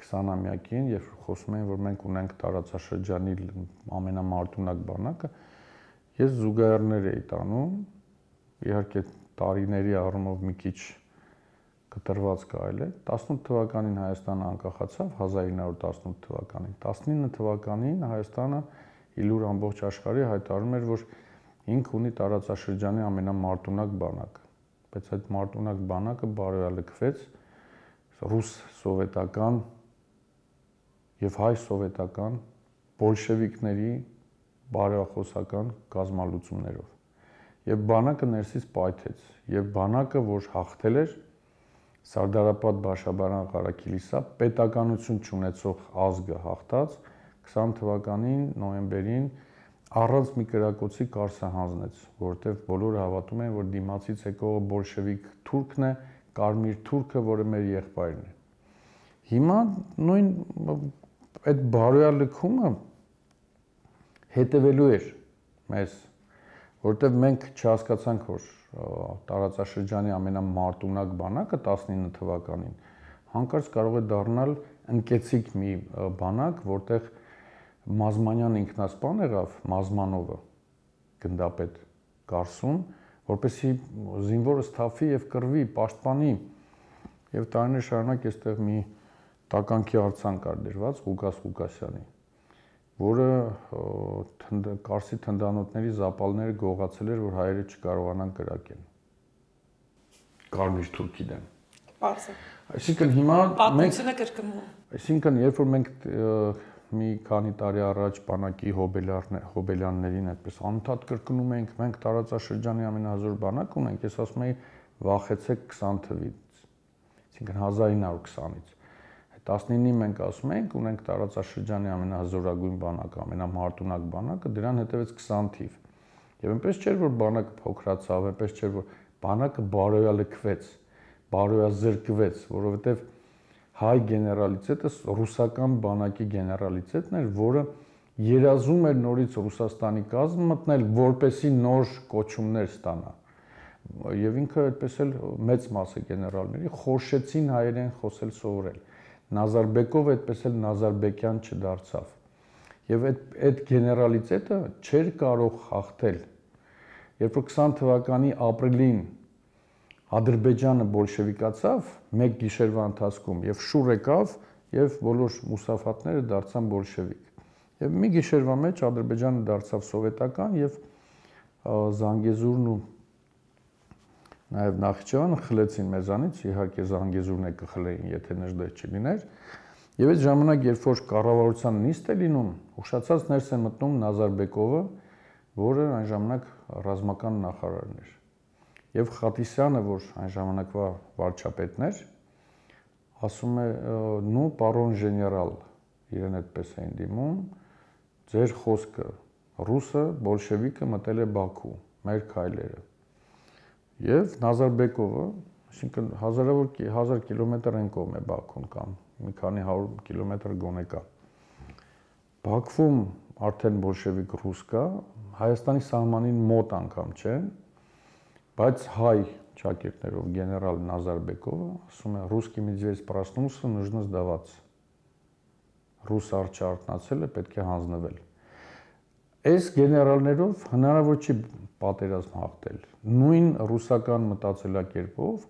Speaker 4: 20-ամյակին, երբ որ խոսում էին, որ մենք ունենք տարածաշրջանի ամենամարտունակ բանակը, ես զուգահեռներ էի տանում, իհարկե տարիների առումով մի քիչ կտրված կարելի է։ 18 թվականին Հայաստանը անկախացավ 1918 թվականին։ 19 թվականին Հայաստանը իլուր ամբողջ աշխարհի հայտարարում էր, որ ինքը ունի տարածաշրջանի ամենամարտունակ բանակը, բայց այդ մարտունակ բանակը բարոյալքվեց ռուս սովետական եւ հայ սովետական բոլշևիկների բարոյախոսական կազմալուծումներով։ Եվ բանակը ներսից պայթեց, եւ բանակը, որ հաղթել էր Սարդարապատ Բաշաբարան Ղարաքիլիսա պետականություն չունեցող ազգը հաղթած 20 թվականին նոյեմբերին առանց մի կրակոցի Կարսը հանձնեց, որովհետև բոլորը հավատում են, որ դիմացից եկողը բոլշևիկ թուրքն է, կարմիր թուրքը, որը մեր եղբայրն է։ Հիմա նույն այդ բարոյա լքումը հետևելու էր մեզ, որովհետև մենք չհասկացանք, որ տարածաշրջանի ամենամարտունակ բանակը 19 թվականին հանկարծ կարող է դառնալ ընկեցիկ մի բանակ, որտեղ Մազմանյան ինքնասպան եղավ, Մազմանովը, գնդապետ Կարսուն, որպեսզի զինվորը սթափվի եւ կռվի, պաշտպանի, եւ տարիներ շարունակ այստեղ մի տականքի արձան կար դրված Ղուկաս Ղուկասյանի, որը Կարսի թնդանոթների զապալները գողացել էր, որ հայերը չկարողանան կրակել։ Կարմիր թուրքի դեմ։
Speaker 3: Պարզ է։
Speaker 4: Այսինքն հիմա
Speaker 3: պատմությունը կրկնվում։
Speaker 4: Այսինքն երբ որ մենք մի քանի տարի առաջ բանակի հոբելյաններին այդպես անընդհատ կրկնում ենք, մենք տարածաշրջանի ամենահզոր բանակ ունենք, ես ասում եի վախեցեք 20 թվից, այսինքն 1920-ից։ 19-ին մենք ասում ենք, ունենք տարածաշրջանի ամենահզորագույն բանակը, ամենամարտունակ բանակը, դրան հետևեց 20 թիվ։ Եվ այնպես չէր, որ բանակը փոքրացավ, այնպես չէր, որ բանակը բարոյալքվեց, բարոյազրկվեց, որովհետև հայ գեներալիտետը ռուսական բանակի գեներալիտետն էր, որը երազում էր նորից Ռուսաստանի կազմ մտնել, որպեսի նոր կոչումներ ստանա։ Եվ ինքը այդպես էլ մեծ մասը գեներալների խորշեցին հայերեն խոսել սովորել։ Նազարբեկովը այդպես էլ Նազարբեկյան չդարձավ։ Եվ այդ գեներալիտետը չէր կարող հաղթել։ Երբ որ 20 թվականի ապրիլին Ադրբեջանը բոլշևիկացավ մեկ գիշերվա ընթացքում եւ շուռ եկավ եւ բոլոր մուսաֆատները դարձան բոլշևիկ։ Եվ մի գիշերվա մեջ Ադրբեջանը դարձավ սովետական եւ Զանգեզուրն ու նաեւ Նախիջևանը խլեցին մեզանից, իհարկե Զանգեզուրն է կխլեին, եթե նժդեհ չլիներ։ Եվ այդ ժամանակ, երբ որ կառավարության նիստ է լինում, ուշացած ներս է մտնում Նազարբեկովը, որը այն ժամանակ ռազմական նախարարն էր։ Եվ Խատիսյանը, որ այն ժամանակվա վարչապետն էր, ասում է՝ «Նու, պարոն ժեներալ», իրեն այդպես էին դիմում, «ձեր խոսքը, ռուսը, բոլշևիկը մտել է Բաքու, մեր քայլերը»։ Եվ Նազարբեկովը, այսինքն 1000 կիլոմետր են կողմ է Բաքուն կամ մի քանի 100 կիլոմետր գոնե կա։ Բաքվում արդեն բոլշևիկ ռուս կա, Հայաստանի սահմանին մոտ անգամ չեն, բայց հայ ճակերտներով գեներալ Նազարբեկովը ասում է «Ռուսկի медведь проснулся, нужно сдаваться»։ Ռուս արջը արթնացել է, պետք է հանձնվել։ Այս գեներալներով հնարավոր չի պատերազմ հաղթել։ Նույն ռուսական մտածելակերպով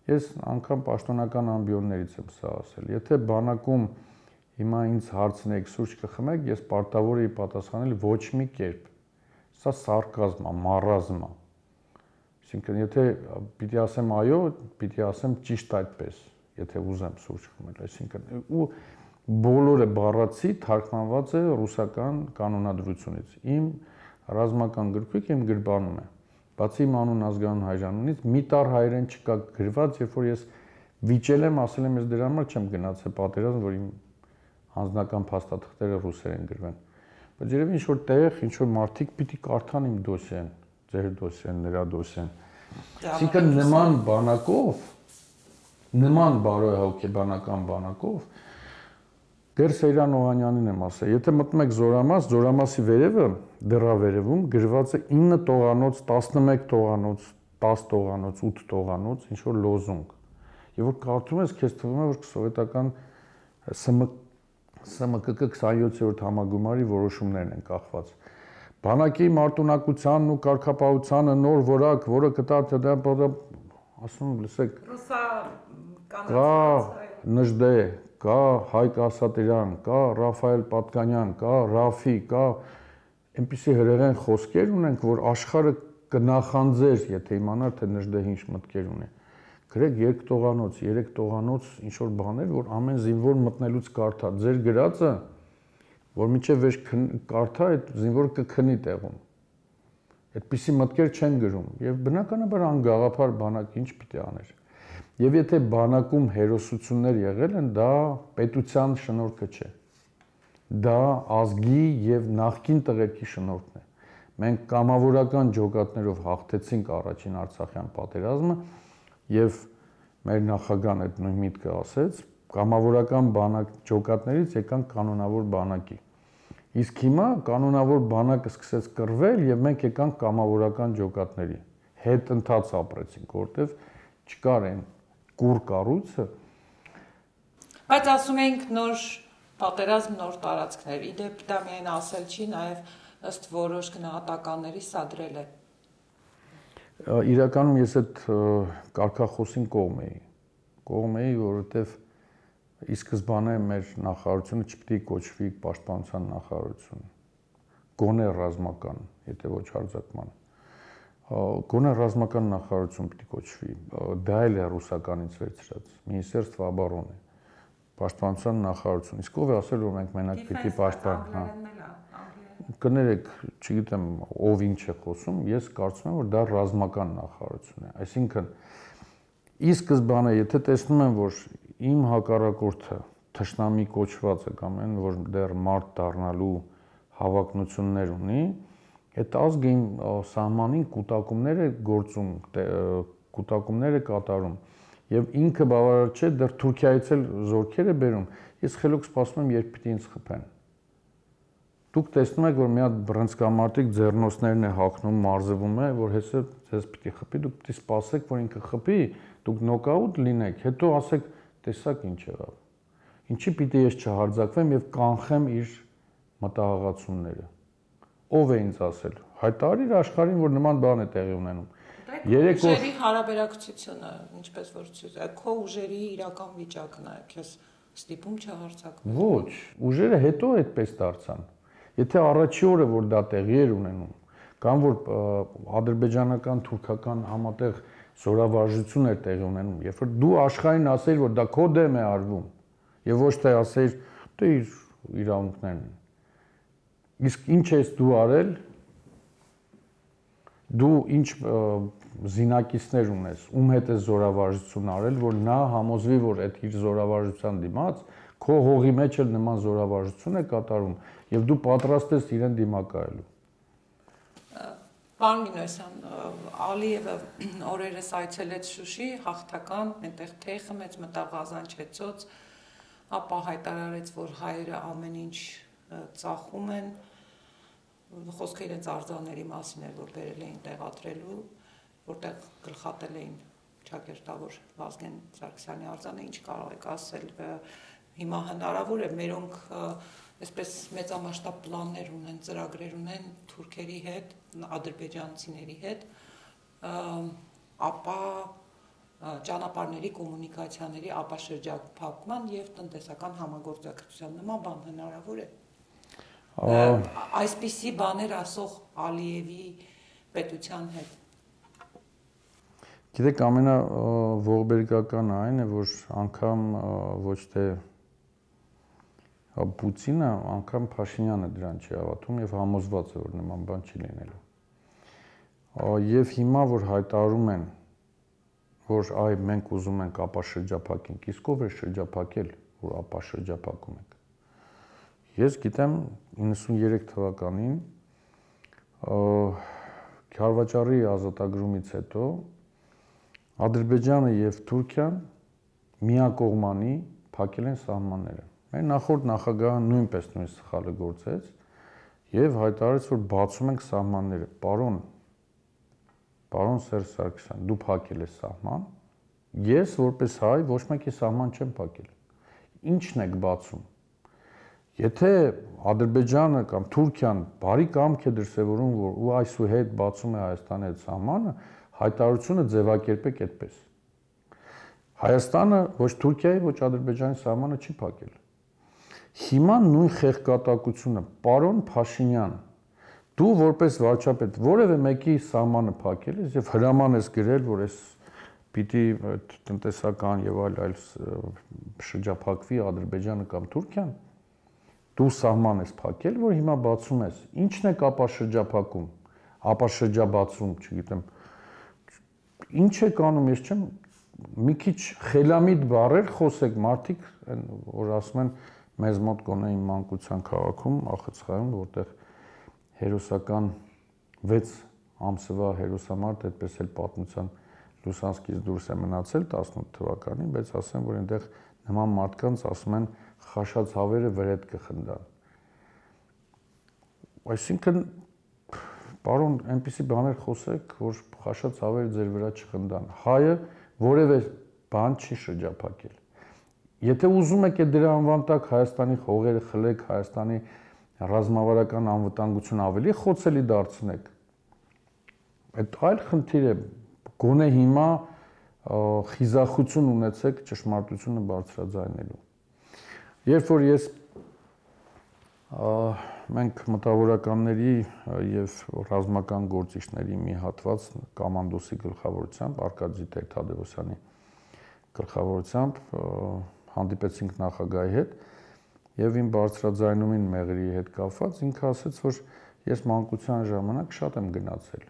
Speaker 4: ես անգամ պաշտոնական ամբիոններից եմ սա ասել։ Եթե բանակում հիմա ինձ հարցնեք սուրճ կխմեք, ես պարտավոր եի պատասխանել ոչ մի կերպ։ Սա սարկազմ է, մարազմ է։ Այսինքն, եթե պիտի ասեմ այո, պիտի ասեմ ճիշտ այդպես, եթե ուզեմ սուրճ խմել, այսինքն ու բոլորը բառացի թարգմանված է ռուսական կանոնադրությունից։ Իմ ռազմական գրքույկը իմ գրբանում է։ Բացի իմ անուն ազգանուն հայրանունից մի տար հայերեն չկա գրված, երբ որ ես վիճել եմ, ասել եմ ես դրա համար չեմ գնացել պատերազմ, որ իմ անձնական փաստաթղթերը ռուսերեն գրվեն։ Բայց երևի ինչ-որ տեղ, ինչ-որ մարդիկ պիտի կարդան իմ դոսիեն, ձեր դոսիեն, նրա դոսիեն։ Այսինքն նման բանակով, նման բարոյահոգեբանական բանակով դեռ Սեյրան Օհանյանին եմ ասել, եթե մտնում եք Զորամաս, Զորամասի վերևը, դռավերևում գրված է 9 տողանոց, 11 տողանոց, 10 տողանոց, 8 տողանոց, ինչ որ լոզունգ։ Եվ որ կարդում ես, քեզ թվում է, որ սովետական ՍՄԿԿ 27-րդ համագումարի որոշումներն են կախված։ Բանակի մարտունակությանն ու կարգապահությանը նոր որակ, որը կտա ասում լսեք, կա Նժդե, կա Հայկ Ասատրյան, կա Ռաֆայել Պատկանյան, կա Ռաֆի, կա այնպիսի հրեղեն խոսքեր ունենք, որ աշխարհը կնախանձեր, եթե իմանար, թե Նժդեհ ինչ մտքեր ունի։ Գրեք 2 տողանոց, 3 տողանոց ինչ որ բաներ, որ ամեն զինվոր մտնելուց կարդա։ Ձեր գրածը, որ միջև վեր կարդա, այդ զինվորը կքնի տեղում։ Այդպիսի մտքեր չեն գրում եւ բնականաբար անգաղափար բանակ ինչ պիտի աներ։ Եվ եթե բանակում հերոսություններ եղել են, դա պետության շնորհքը չէ։ Դա ազգի եւ նախկին տղերքի շնորհքն է։ մենք կամավորական ջոկատներով հաղթեցինք առաջին Արցախյան պատերազմը եւ մեր նախագահն այդ նույն միտքը ասեց, կամավորական բանակ ջոկատներից եկանք կանոնավոր բանակի։ Իսկ հիմա կանոնավոր բանակը սկսեց կռվել եւ մենք եկանք կամավորական ջոկատների։ Հետ ընթաց ապրեցինք, որտեվ չկար այն կուր կառույցը։
Speaker 3: Բայց ասում էինք նոր պատերազմ, նոր տարածքներ։ Իդեպ դա միայն ասել չի, նաեւ ըստ որոշ գնահատականների սադրել է։
Speaker 4: Իրականում ես այդ կարգախոսին կողմ էի, որովհետև ի սկզբանե մեր նախարարությունը չպիտի կոչվի պաշտպանության նախարարություն, գոնե ռազմական, եթե ոչ հարձակման, գոնե ռազմական նախարարություն պիտի կոչվի, դա էլ է ռուսականից վերցրած, Մինիսтерство обороны, պաշտպանության նախարարություն, իսկ ով է ասել, որ մենք մենակ պիտի պաշտպանենք, կներեք, չգիտեմ ով ինչ է խոսում, ես կարծում եմ, որ դա ռազմական նախարարություն է, այսինքն ի սկզբանե, եթե տեսնում եմ, որ իմ հակառակորդը թշնամի կոչված է կամ այն, որ դեռ մարդ դառնալու հավակնություններ ունի, այդ ազգը իմ սահմանին կուտակումներ է կատարում եւ ինքը բավարար չէ, դեռ Թուրքիայից էլ զորքեր է բերում, ես խելոք սպասում եմ, երբ պիտի ինձ խփեն։ Դուք տեսնում եք, որ մի հատ բռնցքամարտիկ ձեռնոցներն է հագնում, մարզվում է, որ հեսա ձեզ պիտի խփի, դուք պիտի սպասեք, որ ինքը խփի, դուք նոկաուտ լինեք, հետո ասեք, տեսակ ինչ եղավ։ Ինչի պիտի ես չհարձակվեմ եւ կանխեմ իր մտահղացումները։ Ով է ինձ ասել։ Հայտարարիր աշխարհին, որ նման բան է տեղի ունենում։
Speaker 3: Ուժերի հարաբերակցությունը, ինչպես որ քո ուժերի իրական վիճակն է, քեզ ստիպում չհարձակվել։
Speaker 4: Ոչ, ուժերը հետո այդպես դարձան։ Եթե առաջի օրը որ դա տեղի էր ունենում, կամ որ ադրբեջանական, թուրքական համատեղ զորավարժություն էր տեղի ունենում, երբ որ դու աշխարհին ասեիր, որ դա քո դեմ է արվում, եւ ոչ թե ասեիր, դե իր իրավունքներն են։ Իսկ ինչ ես դու արել, դու ինչ զինակիցներ ունես, ում հետ է զորավարժություն արել, որ նա համոզվի, որ այդ իր զորավարժության դիմաց քո հողի մեջ էլ նման զորավարժություն է կատարում եւ դու պատրաստ ես իրեն դիմակայելու։
Speaker 3: Պարոն Մինասյան, Ալիևը օրերս այցելեց Շուշի, հաղթական, այնտեղ թեյ խմեց, մտավ Ղազանչեցոց, ապա հայտարարեց, որ հայերը ամեն ինչ ծախում են, խոսքը իրենց արձանների մասին էր, որ բերել էին տեղադրելու, որտեղ գլխատել էին ճակերտավոր Վազգեն Սարգսյանի արձանը, ինչ կարող եք ասել, հիմա հնարավոր է մերոնք այսպես մեծամասշտաբ պլաններ ունեն, ծրագրեր ունեն թուրքերի հետ, ադրբեջանցիների հետ, ապա ճանապարհների կոմունիկացիաների ապաշրջափակման եւ տնտեսական համագործակցության նման բան հնարավոր է։ Այսպիսի բաներ ասող Ալիևի պետության հետ։
Speaker 4: Գիտեք, ամենաողբերգականը այն է, որ անգամ ոչ թե Պուտինը, անգամ Փաշինյանը դրան չի հավատում եւ համոզված է, որ նման բան չի լինելու։ Եվ հիմա որ հայտարարում են, որ այ մենք ուզում ենք ապաշրջափակենք, իսկ ով է շրջափակել, որ ապաշրջափակում ենք։ Ես գիտեմ 93 թվականին Քարվաճարի ազատագրումից հետո Ադրբեջանը եւ Թուրքիան միակողմանի փակել են սահմանները։ Մեր նախորդ նախագահը նույնպես նույն սխալը գործեց եւ հայտարարեց, որ բացում ենք սահմանները։ Պարոն Սերժ Սարգսյան, դու փակել ես սահման։ Ես որպես հայ ոչ մեկի սահման չեմ փակել։ Ինչն եք բացում։ Եթե Ադրբեջանը կամ Թուրքիան բարի կամք է դրսևորում, որ ու այսուհետ բացում է Հայաստանի հետ սահմանը, հայտարարությունը ձևակերպեք այդպես։ Հայաստանը ոչ Թուրքիայի, ոչ Ադրբեջանի սահմանը չի փակել։ Հիմա նույն խեղկատակությունը, պարոն Փաշինյան, դու որպես վարչապետ որևէ մեկի սահմանը փակել ես եւ հրաման ես գրել, որ այս պիտի տնտեսական եւ այլ շրջափակվի Ադրբեջանը կամ Թուրքիան, դու սահման ես փակել, որ հիմա բացում ես։ Ինչն է ապաշրջափակում, ապաշրջաբացում, չգիտեմ։ Ինչ եք անում, ես չեմ մի քիչ խելամիտ բառեր խոսեք, մարդիկ, որ ասում են մեզ մոտ գոնե իմ մանկության քաղաքում, Ախցխայում, որտեղ հերոսական 6 ամսվա հերոսամարտ, այդպես էլ պատմության Լուսանսկից դուրս է մնացել 18 թվականին, բայց ասեմ, որ այնտեղ նման մարդկանց ասում են խաշած հավերը վրետ կխնդան։ Այսինքն, պարոն, այնպիսի բաներ խոսեք, որ խաշած հավերը ձեր վրա չխնդան։ Հայը որևէ բան չի շրջափակել։ Եթե ուզում եք դրա անվան տակ Հայաստանի հողերը խլեք, Հայաստանի ռազմավարական անվտանգությունը ավելի խոցելի դարձնեք, այդ այլ խնդիր է, գոնե հիմա խիզախություն ունեցեք ճշմարտությունը բարձրաձայնելու։ Երբ որ մենք մտավորականների եւ ռազմական գործիչների մի հատված կոմանդոսի գլխավորությամբ Արկադի Թադևոսյանի գլխավորությամբ հանդիպեցինք նախագահի հետ եւ իմ բարձրաձայնումին մեղրի հետ կապված ինքը ասաց, որ ես մանկության ժամանակ շատ եմ գնացել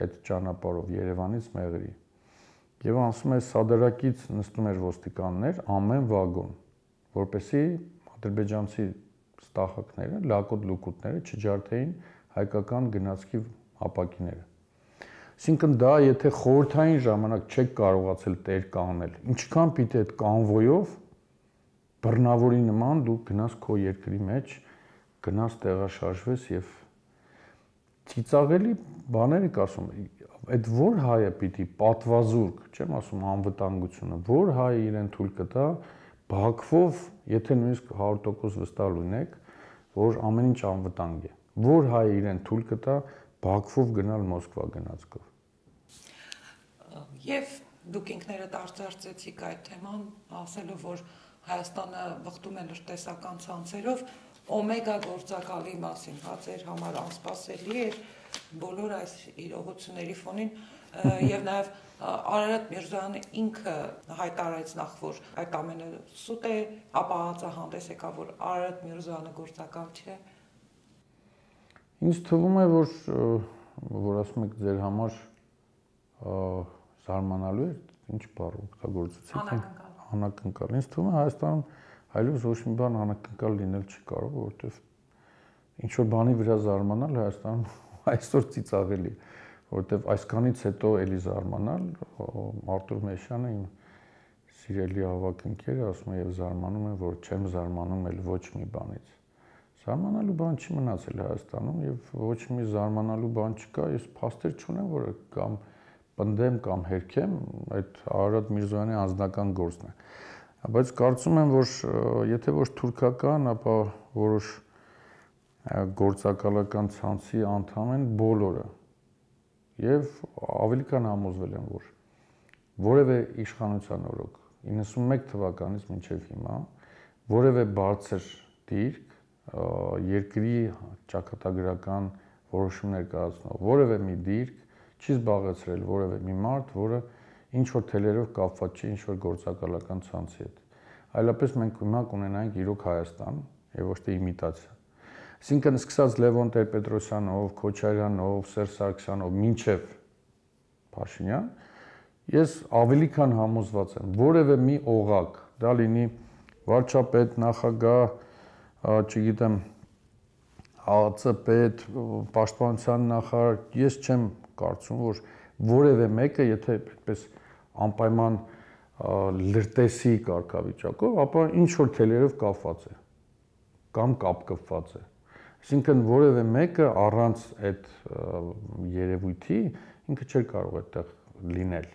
Speaker 4: այդ ճանապարհով Երևանից մեղրի եւ ասում է սադարակից նստում էր ոստիկաններ ամեն վագոն, որպեսզի ադրբեջանցի ստախակները, լակոտ լուկուտները չջարդեին հայկական գնացքի ապակիները։ Այսինքն դա եթե խորհրդային ժամանակ չեք կարողացել տեր կանել, ինչքան պիտի այդ կանվոյով բռնավորի նման դու գնաս քո երկրի մեջ, գնաս տեղաշարժվես եւ ծիծաղելի բաներ եք ասում, այդ որ հայը պիտի պատվազուրկ, չեմ ասում անվտանգությունը, որ հայը իրեն թույլ կտա Բաքվով, եթե նույնիսկ 100% վստահ լինեք, որ ամեն ինչ անվտանգ է, որ հայը իրեն թույլ կտա Բաքվով գնալ Մոսկվա գնացքով։
Speaker 3: Եվ դուք ինքներդ արծարծեցիք այդ թեման, ասելով, որ Հայաստանը վխտում է լրտեսական ցանցերով, օմեգա գործակալի մասին, հա ձեր համար անսպասելի էր բոլոր այս իրողությունների ֆոնին եւ նաեւ Արարատ Միրզոյանը ինքը հայտարարեց նախ, որ այդ ամենը սուտ է, ապա հանդես եկավ, որ Արարատ Միրզոյանը գործակալ չէ։
Speaker 4: Ինձ թվում է, որ ասում եք ձեր համար զարմանալու է, ինչ բառ օգտագործեցիք, անակնկալ։ Ինձ թվում է Հայաստանում այլևս ոչ մի բան անակնկալ լինել չի կարող, որովհետև ինչ որ բանի վրա զարմանալ Հայաստանում այսօր ծիծաղելի, որովհետև այսքանից հետո էլի զարմանալ, Արտուր Մեշյանը իմ սիրելի ավակ ընկերը ասում է եւ զարմանում է, որ չեմ զարմանում էլ ոչ մի բանից։ Զարմանալու բան չի մնացել Հայաստանում եւ ոչ մի զարմանալու բան չկա, ես փաստեր չունեմ, որ կամ պնդեմ կամ հերքեմ, այդ Արարատ Միրզոյանի անձնական գործն է։ Բայց կարծում եմ, որ եթե ոչ թուրքական, ապա որոշ գործակալական ցանցի անդամ են բոլորը։ Եվ ավելի կան համոզվել եմ, որ որևէ իշխանության օրոք 91 թվականից մինչև հիմա որևէ բարձր դիրք երկրի ճակատագրական որոշումներ կայացնող որևէ մի դիրք չի զբաղեցրել որևէ մի մարդ, որը ինչ որ թելերով կապված չի ինչ որ գործակալական ցանցի հետ։ Այլապես մենք հիմա կունենանք իրոք Հայաստան եւ ոչ թե իմիտացիա։ Այսինքն սկսած Լևոն Տեր-Պետրոսյանով, Քոչարյանով, Սերժ Սարգսյանով մինչև Փաշինյան, ես ավելի քան համոզված եմ, որևէ մի օղակ, դա լինի վարչապետ, նախագահ, չգիտեմ, ԱԱՑ պետ, պաշտպանության նախարար, ես չեմ կարծում, որ որևէ մեկը, եթե այդպես անպայման լրտեսի կարգավիճակով, ապա ինչ որ թելերով կապված է կամ կապկպված է։ Այսինքն որևէ մեկը առանց այդ երևույթի ինքը չէր կարող այդտեղ լինել,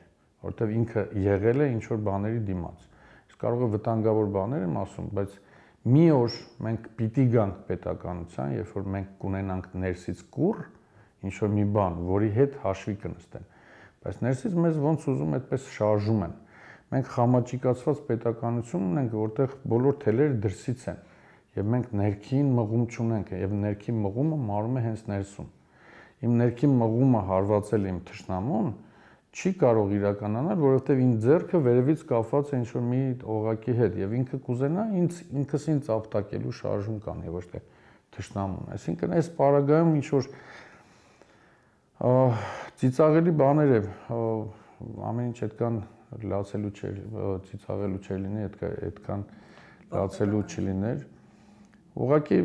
Speaker 4: որովհետև ինքը եղել է ինչ որ բաների դիմաց։ Իսկ կարող է վտանգավոր բաներ եմ ասում, բայց մի օր մենք պիտի գանք պետականության, երբ որ մենք կունենանք ներսից կուռ, ինչ որ մի բան, որի հետ հաշվի կնստեն։ Բայց ներսից մեզ ոնց ուզում այդպես շարժում են։ Մենք խամաճիկացված պետականություն ունենք, որտեղ բոլոր թելերը դրսից են, եւ մենք ներքին մղում չունենք, եւ ներքին մղումը մարում է հենց ներսում։ Իմ ներքին մղումը հարվածել իմ թշնամուն չի կարող իրականանալ, որովհետև ինձ ձեռքը վերևից կապված է ինչ-որ մի օղակի հետ եւ ինքը կուզենա ինքս ինձ ապտակելու շարժում կան եւ ոչ թե թշնամուն։ Այսինքն այս պարագայում ինչ-որ ծիծաղելի բաներ է, ամեն ինչ այդքան լացելու չէր, ծիծաղելու չէր լինի, այդքան լացելու չլիներ, Ուղղակի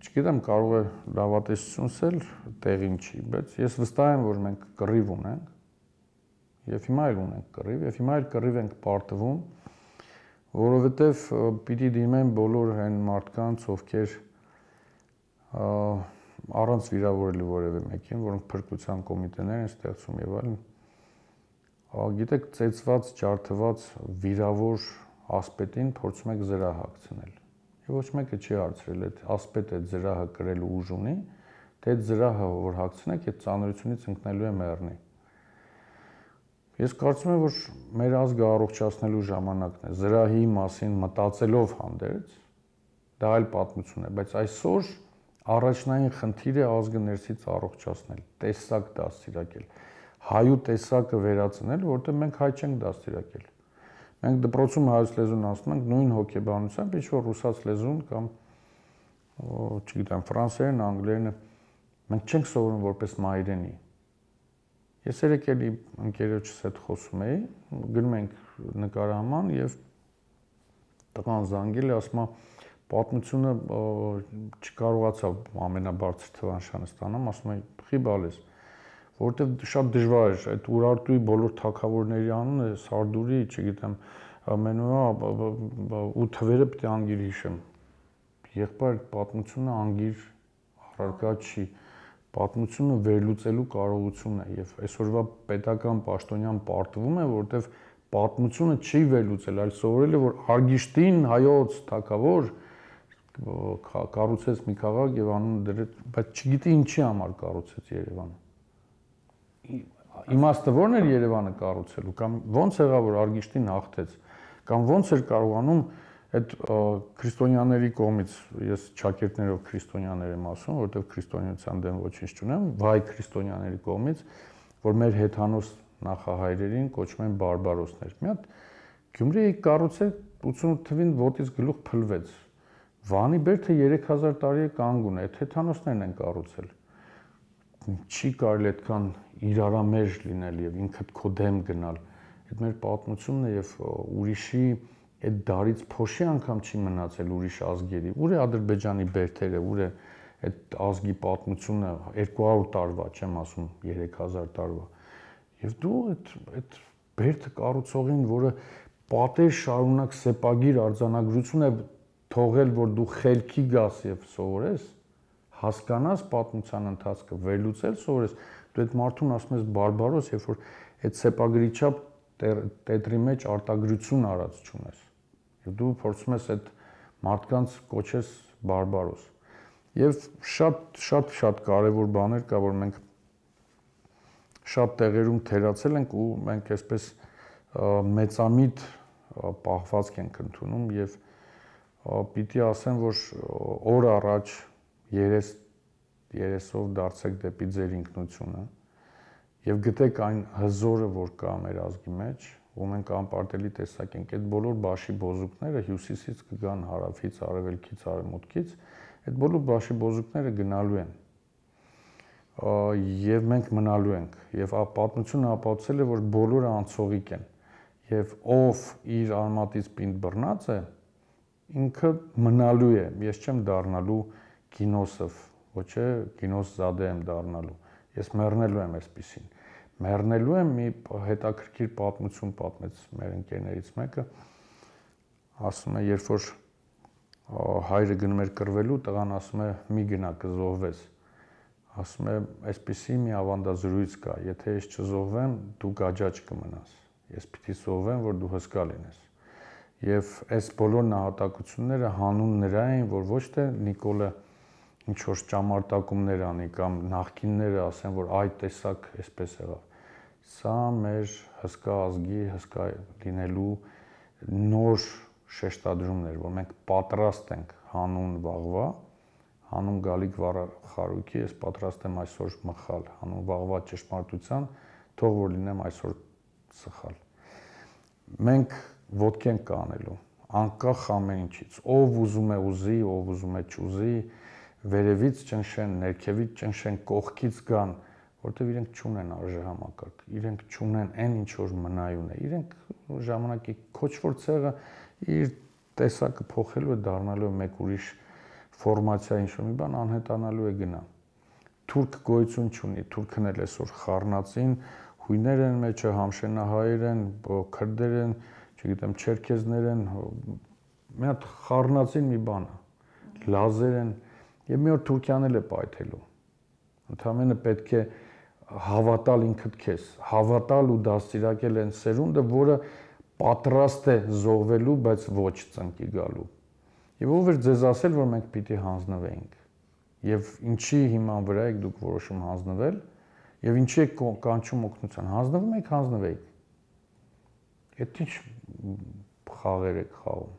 Speaker 4: չգիտեմ, կարող է լավատեսությունս էլ տեղին չի, բայց ես վստահ եմ, որ մենք կռիվ ունենք, եւ հիմա էլ ունենք կռիվ, եւ հիմա էլ կռիվ ենք պարտվում, որովհետեւ պիտի դիմեն բոլոր այն մարդկանց, ովքեր առանց վիրավորելու որևէ մեկին, որոնք փրկության կոմիտեներ են ստեղծում եւ այլն, գիտեք, ծեծված, ջարդված, վիրավոր ասպետին փորձում եք զրահ հագցնել։ Եվ ոչ մեկը չի հարցրել, այդ ասպետը այդ զրահը կրելու ուժ ունի, թե այդ զրահը որ հագցնեք, այդ ծանրությունից ընկնելու է մեռնի։ Ես կարծում եմ, որ մեր ազգը առողջացնելու ժամանակն է, զրահի մասին մտածելով հանդերձ, դա այլ պատմություն է, բայց այսօր առաջնային խնդիրը ազգը ներսից առողջացնել, տեսակ դաստիարակել, հայու տեսակը վերացնել, որտեղ մենք հայ չենք դաստիարակել։ Մենք դպրոցում հայոց լեզուն ասում ենք նույն հոգեբանությամբ, ինչ որ ռուսաց լեզուն կամ չգիտեմ, ֆրանսերեն, անգլերենը մենք չենք սովորում որպես մայրենի։ Ես երեկ էլի ընկերոջս հետ խոսում էի, գնում ենք նկարահանման եւ տղան զանգել է, ասում է պատմությունը չկարողացավ ամենաբարձր թվանշանը ստանամ, ասում է խիբալ ես, որովհետեւ շատ դժվար էր այդ Ուրարտուի բոլոր թագավորների անունը Սարդուրի, չգիտեմ, Մենուա ու թվերը պետք է անգիր հիշեմ։ Եղբայր պատմությունը անգիր առարկա չի, պատմությունը վերլուծելու կարողությունն է եւ այսօրվա պետական պաշտոնյան պարտվում է, որովհետեւ պատմությունը չի վերլուծել, այլ սովորել է, որ Արգիշտին հայոց թագավոր կառուցեց մի քաղաք եւ անունը դրեց, բայց չգիտի ինչի համար կառուցեց Երևանը։ Իմաստը ո՞րն էր Երևանը կառուցելու, կամ ո՞նց եղավ, որ Արգիշտին հաղթեց, կամ ո՞նց էր կարողանում այդ քրիստոնյաների կողմից, ես ճակերտներով քրիստոնյաներ եմ ասում, որովհետև քրիստոնեության դեմ ոչինչ չունեմ, վայ քրիստոնյաների կողմից, որ մեր հեթանոս նախահայրերին կոչում են բարբարոսներ։ Մի հատ Գյումրիի կառուցել 88 թվին ոտից գլուխ փլվեց։ Վանի Բերդը 3000 տարի է կանգուն է, այդ հեթանոսներն են կառուցել։ Չի կարելի այդքան իրարամերժ լինել եւ ինքդ քո դեմ գնալ։ Այդ մեր պատմությունն է եւ ուրիշի այդ դարից փոշի անգամ չի մնացել ուրիշ ազգերի։ Ուր է Ադրբեջանի բերդերը, ուր է այդ ազգի պատմությունը 200 տարվա, չեմ ասում 3000 տարվա։ Եվ դու այդ բերդը կառուցողին, որը պատեր շարունակ սեպագիր արձանագրություն է թողել, որ դու խելքի գաս եւ սովորես, հասկանաս պատմության ընթացքը, վերլուծել սովորես, դու այդ մարդուն ասում ես բարբարոս, երբ որ այդ սեպագրի չափ տետրի մեջ արտագրություն արած չունես։ Եվ դու փորձում ես այդ մարդկանց կոչես բարբարոս։ Եվ շատ կարևոր բաներ կա, որ մենք շատ տեղերում թերացել ենք ու մենք այսպես մեծամիտ պահվածք ենք ընդունում եւ պիտի ասեմ, որ օր առաջ երեսով դարձեք դեպի ձեր ինքնությունը եւ գտեք այն հզորը, որ կա մեր ազգի մեջ, ու մենք անպարտելի տեսակ ենք այդ բոլոր բաշի բոզուկները հյուսիսից կգան, հարավից, արևելքից, արևմուտքից, այդ բոլոր բաշի բոզուկները գնալու են եւ մենք մնալու ենք եւ պատմությունը ապացուցել է, որ բոլորը անցողիկ են եւ ով իր արմատից պինդ բռնած է ինքը մնալու է, ես չեմ դառնալու գինոսով, ոչ է գինոս զադե եմ դառնալու, ես մեռնելու եմ այսպեսին, մեռնելու եմ մի հետաքրքիր պատմություն պատմեց մեր ընկերներից մեկը, ասում է, երբ որ հայրը գնում էր կռվելու, տղան ասում է, մի գնա կզոհվես, ասում է, այսպեսի մի ավանդազրույց կա, եթե ես չզոհվեմ, դու գաճաճ կմնաս, ես պիտի զոհվեմ, որ դու հսկա լինես։ Եվ այս բոլոր նահատակությունները հանուն նրա էին, որ ոչ թե Նիկոլը ինչ-որ ճամարտակումներ անի կամ նախկինները ասեն, որ այդ տեսակ այսպես եղավ։ Սա մեր հսկա ազգի, հսկա լինելու նոր շեշտադրումներ, որ մենք պատրաստ ենք հանուն վաղվա, հանուն գալիք խարույկի, ես պատրաստ եմ այսօր մխալ, հանուն վաղվա ճշմարտության, թող որ լինեմ այսօր սխալ։ Մենք ոտք ենք կանելու, անկախ ամեն ինչից, ով ուզում է ուզի, ով ուզում է չուզի, վերևից ճնշեն, ներքևից ճնշեն, կողքից գան, որտեղ իրենք չունեն արժեհամակարգ, իրենք չունեն այն ինչ որ մնայուն է, իրենք ժամանակի քոչվոր ցեղը իր տեսակը փոխելու է, դառնալու է մեկ ուրիշ ֆորմացիա ինչ-որ մի բան անհետանալու է գնա։ Թուրք գոյություն չունի, թուրքն էլ այսօր խառնածին, հույներ են մեջը, համշենահայեր են, քրդեր են, չգիտեմ, չերքեզներ են, մի հատ խառնածին մի բան է, լազեր են, եւ մի օր Թուրքիան էլ է պայթելու։ Ընդհանրապես պետք է հավատալ ինքդ քեզ, հավատալ ու դաստիարակել այն սերունդը, որը պատրաստ է զոհվելու, բայց ոչ ծնկի գալու։ Եվ ով էր ձեզ ասել, որ մենք պիտի հանձնվեինք։ Եվ ինչի հիման վրա եք դուք որոշում հանձնվել, եւ ինչի եք կանչում օգնության։ Հանձնվում եք, հանձնվեիք։ Այդ ինչ խաղեր եք խաղում։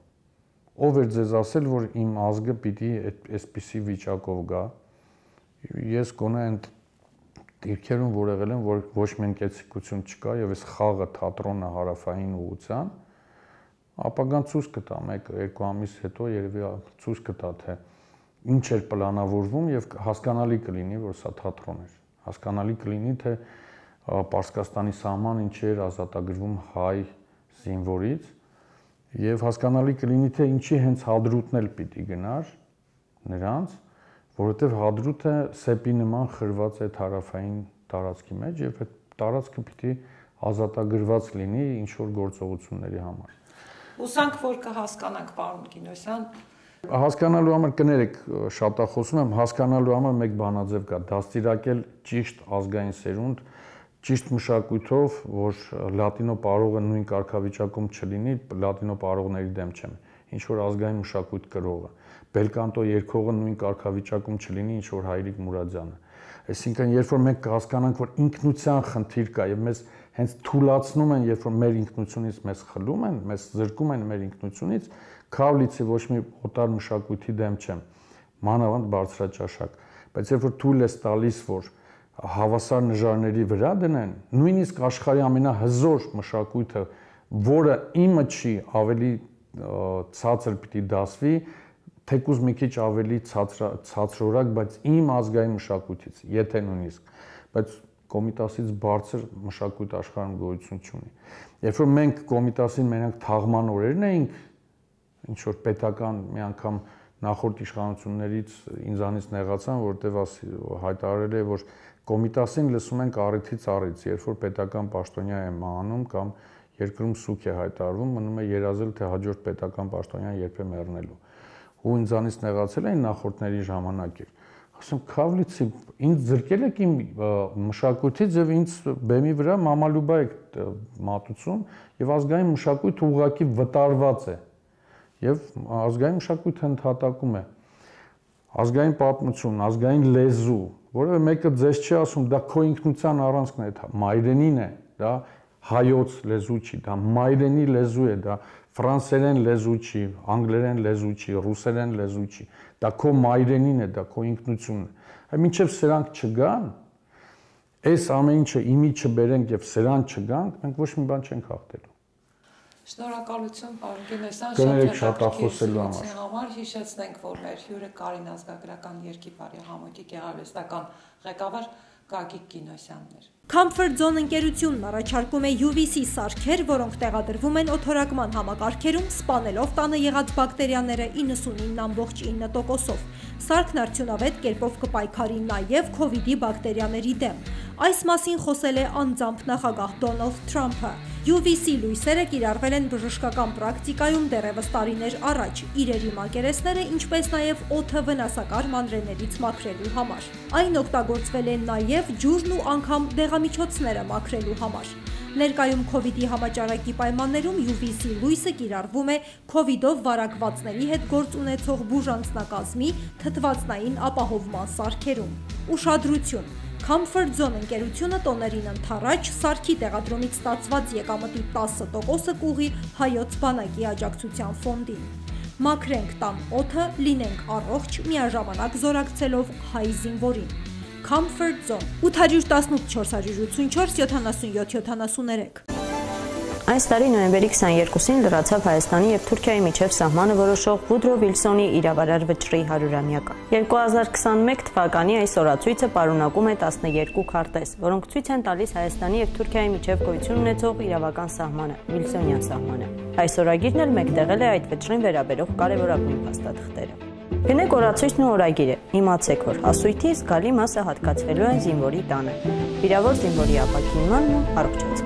Speaker 4: Ով էր ձեզ ասել, որ իմ ազգը պիտի այսպիսի վիճակով գա։ Ես գոնե այն դիրքերում որ եղել եմ, որ ոչ միայն կեցիկություն չկա եւ այս խաղը թատրոնը հարավային ուղղության, ապագան ցույց կտա 1-2 ամիս հետո երևի ցույց կտա թե ինչ էր պլանավորվում եւ հասկանալի կլինի, որ սա թատրոն էր։ Հասկանալի կլինի թե Պարսկաստանի սահմանը ինչ էր ազատագրվում հայ զինվորից եւ հասկանալի կլինի թե ինչի հենց Հադրութն էլ պիտի գնար նրանց, որովհետեւ Հադրութը սեպի նման խրված է հարավային տարածքի մեջ եւ այդ տարածքը պիտի ազատագրված լինի ինչ որ գործողությունների համար։
Speaker 3: Հուսանք, որ կհասկանանք, պարոն Կինոսյան։
Speaker 4: Հասկանալու համար կներեք, շատախոսում եմ, հասկանալու համար մեկ բանաձև կա, դաստիարակել ճիշտ ազգային սերունդ, ճիշտ մշակույթով, որ լատինո պարողը նույն կարգավիճակում չլինի, լատինո պարողների դեմ չեմ, ինչ որ ազգային մշակույթ կրողը, բելկանտո երգողը նույն կարգավիճակում չլինի, ինչ որ Հայրիկ Մուրադյանը։ Այսինքն, երբ որ մենք կհասկանանք, որ ինքնության խնդիր կա եւ մեզ հենց թուլացնում են, երբ որ մեր ինքնությունից մեզ խլում են, մեզ զրկում են մեր ինքնությունից, Քավլիցի ոչ մի օտար մշակույթի դեմ չեմ, մանավանդ բարձրաճաշակ, բայց երբ որ թույլ ես տալիս, որ հավասար նժարների վրա դնեն, նույնիսկ աշխարհի ամենահզոր մշակույթը, որը իմը չի, ավելի ցածր պիտի դասվի, թեկուզ մի քիչ ավելի ցածրորակ, բայց իմ ազգային մշակույթից, եթե նույնիսկ, բայց Կոմիտասից բարձր մշակույթ աշխարհում գոյություն չունի։ Երբ որ մենք Կոմիտասին մենակ թաղման օրերն էինք, ինչ որ պետական մի անգամ նախորդ իշխանություններից ինձանից նեղացան, որտեղ հայտարարել է, որ Կոմիտասին լսում ենք առիթից առիթ, երբ որ պետական պաշտոնյա է մահանում կամ երկրում սուկ է հայտարարվում, մնում է երազել, թե հաջորդ պետական պաշտոնյան երբ է մեռնելու։ Ու ինձանից նեղացել էին նախորդների ժամանակ էր։ Ասում Քավլիցի ինձ զրկել եք իմ մշակույթից եւ ինձ բեմի վրա մամալուբա եք մատուցում եւ ազգային մշակույթը ուղղակի վտարված է եւ ազգային մշակույթը ընդհատակում է ազգային պատմություն, ազգային լեզու, որովհետեւ մեկը ձեզ չի ասում դա քո ինքնության առանցքն է, դա մայրենին է, դա հայոց լեզու չի, դա մայրենի լեզու է, դա ֆրանսերեն լեզու չի, անգլերեն լեզու չի, ռուսերեն լեզու չի, դա քո մայրենին է, դա քո ինքնությունն է։ Այ մինչև սրանք չգան, այս ամեն ինչը իմի չբերենք եւ սրան չգանք, մենք ոչ մի բան չենք հաղթելու։
Speaker 3: Շնորհակալություն, պարոն Կինոսյան,
Speaker 4: շատ հետաքրքիր
Speaker 3: համար հիշեցնենք, որ մեր հյուրը Կարին ազգագրական երկիպարի համույթի գեղարվեստական ղեկավար Գագիկ Կինոսյանն էր։
Speaker 1: Comfort Zone ընկերությունն առաջարկում է UVC սարքեր, որոնք տեղադրվում են օդորակման համակարգերում, սպանելով տանը եղած բակտերիաները 99.9%-ով։ Սարքն արդյունավետ կերպով կպայքարի նաև COVID-ի բակտերիաների դեմ։ Այս մասին խոսել է անձամբ նախագահ Դոնալդ Թրամփը։ UVC լույսերը կիրառվել են բժշկական պրակտիկայում դեռևս տարիներ առաջ, իրերի մակերեսները, ինչպես նաև օդը վնասակար մանրէներից մաքրելու համար։ Այն օգտագործվել է նաև ջուրն ու անգամ դեղամիջոցները մաքրելու համար։ Ներկայում COVID-ի համաճարակի պայմաններում UVC լույսը կիրառվում է COVID-ով վարակվածների հետ գործ ունեցող բուժանձնակազմի թթվածնային ապահովման սարքերում։ Ուշադրություն! Comfort Zone ընկերությունը տոներին ընդառաջ սարքի տեղադրումից ստացված եկամտի 10%-ը կուղի հայոց բանակի աջակցության ֆոնդին։ Մաքրենք տան օդը, լինենք առողջ, միաժամանակ զորակցելով հայ զինվորին։ Comfort Zone 818 484 77 73
Speaker 2: Այս տարի նոյեմբերի 22-ին լրացավ Հայաստանի եւ Թուրքիայի միջև սահմանը որոշող Վուդրո Վիլսոնի իրավարար վճռի 100-ամյակը։ 2021 թվականի այս օրացույցը պարունակում է 12 քարտեզ, որոնք ցույց են տալիս Հայաստանի եւ Թուրքիայի միջև գոյություն ունեցող իրավական սահմանը, Վիլսոնյան սահմանը։ Այս օրագիրն էլ մեկտեղել է այդ վճռին վերաբերող կարևորագույն փաստաթղթերը։ Գնեք օրացույցն ու օրագիրը, իմացեք, որ հասույթի զգալի մասը հատկացվելու է զինվորի տանը։ Վիրավոր զինվորի ապաքինմանն ու առողջացման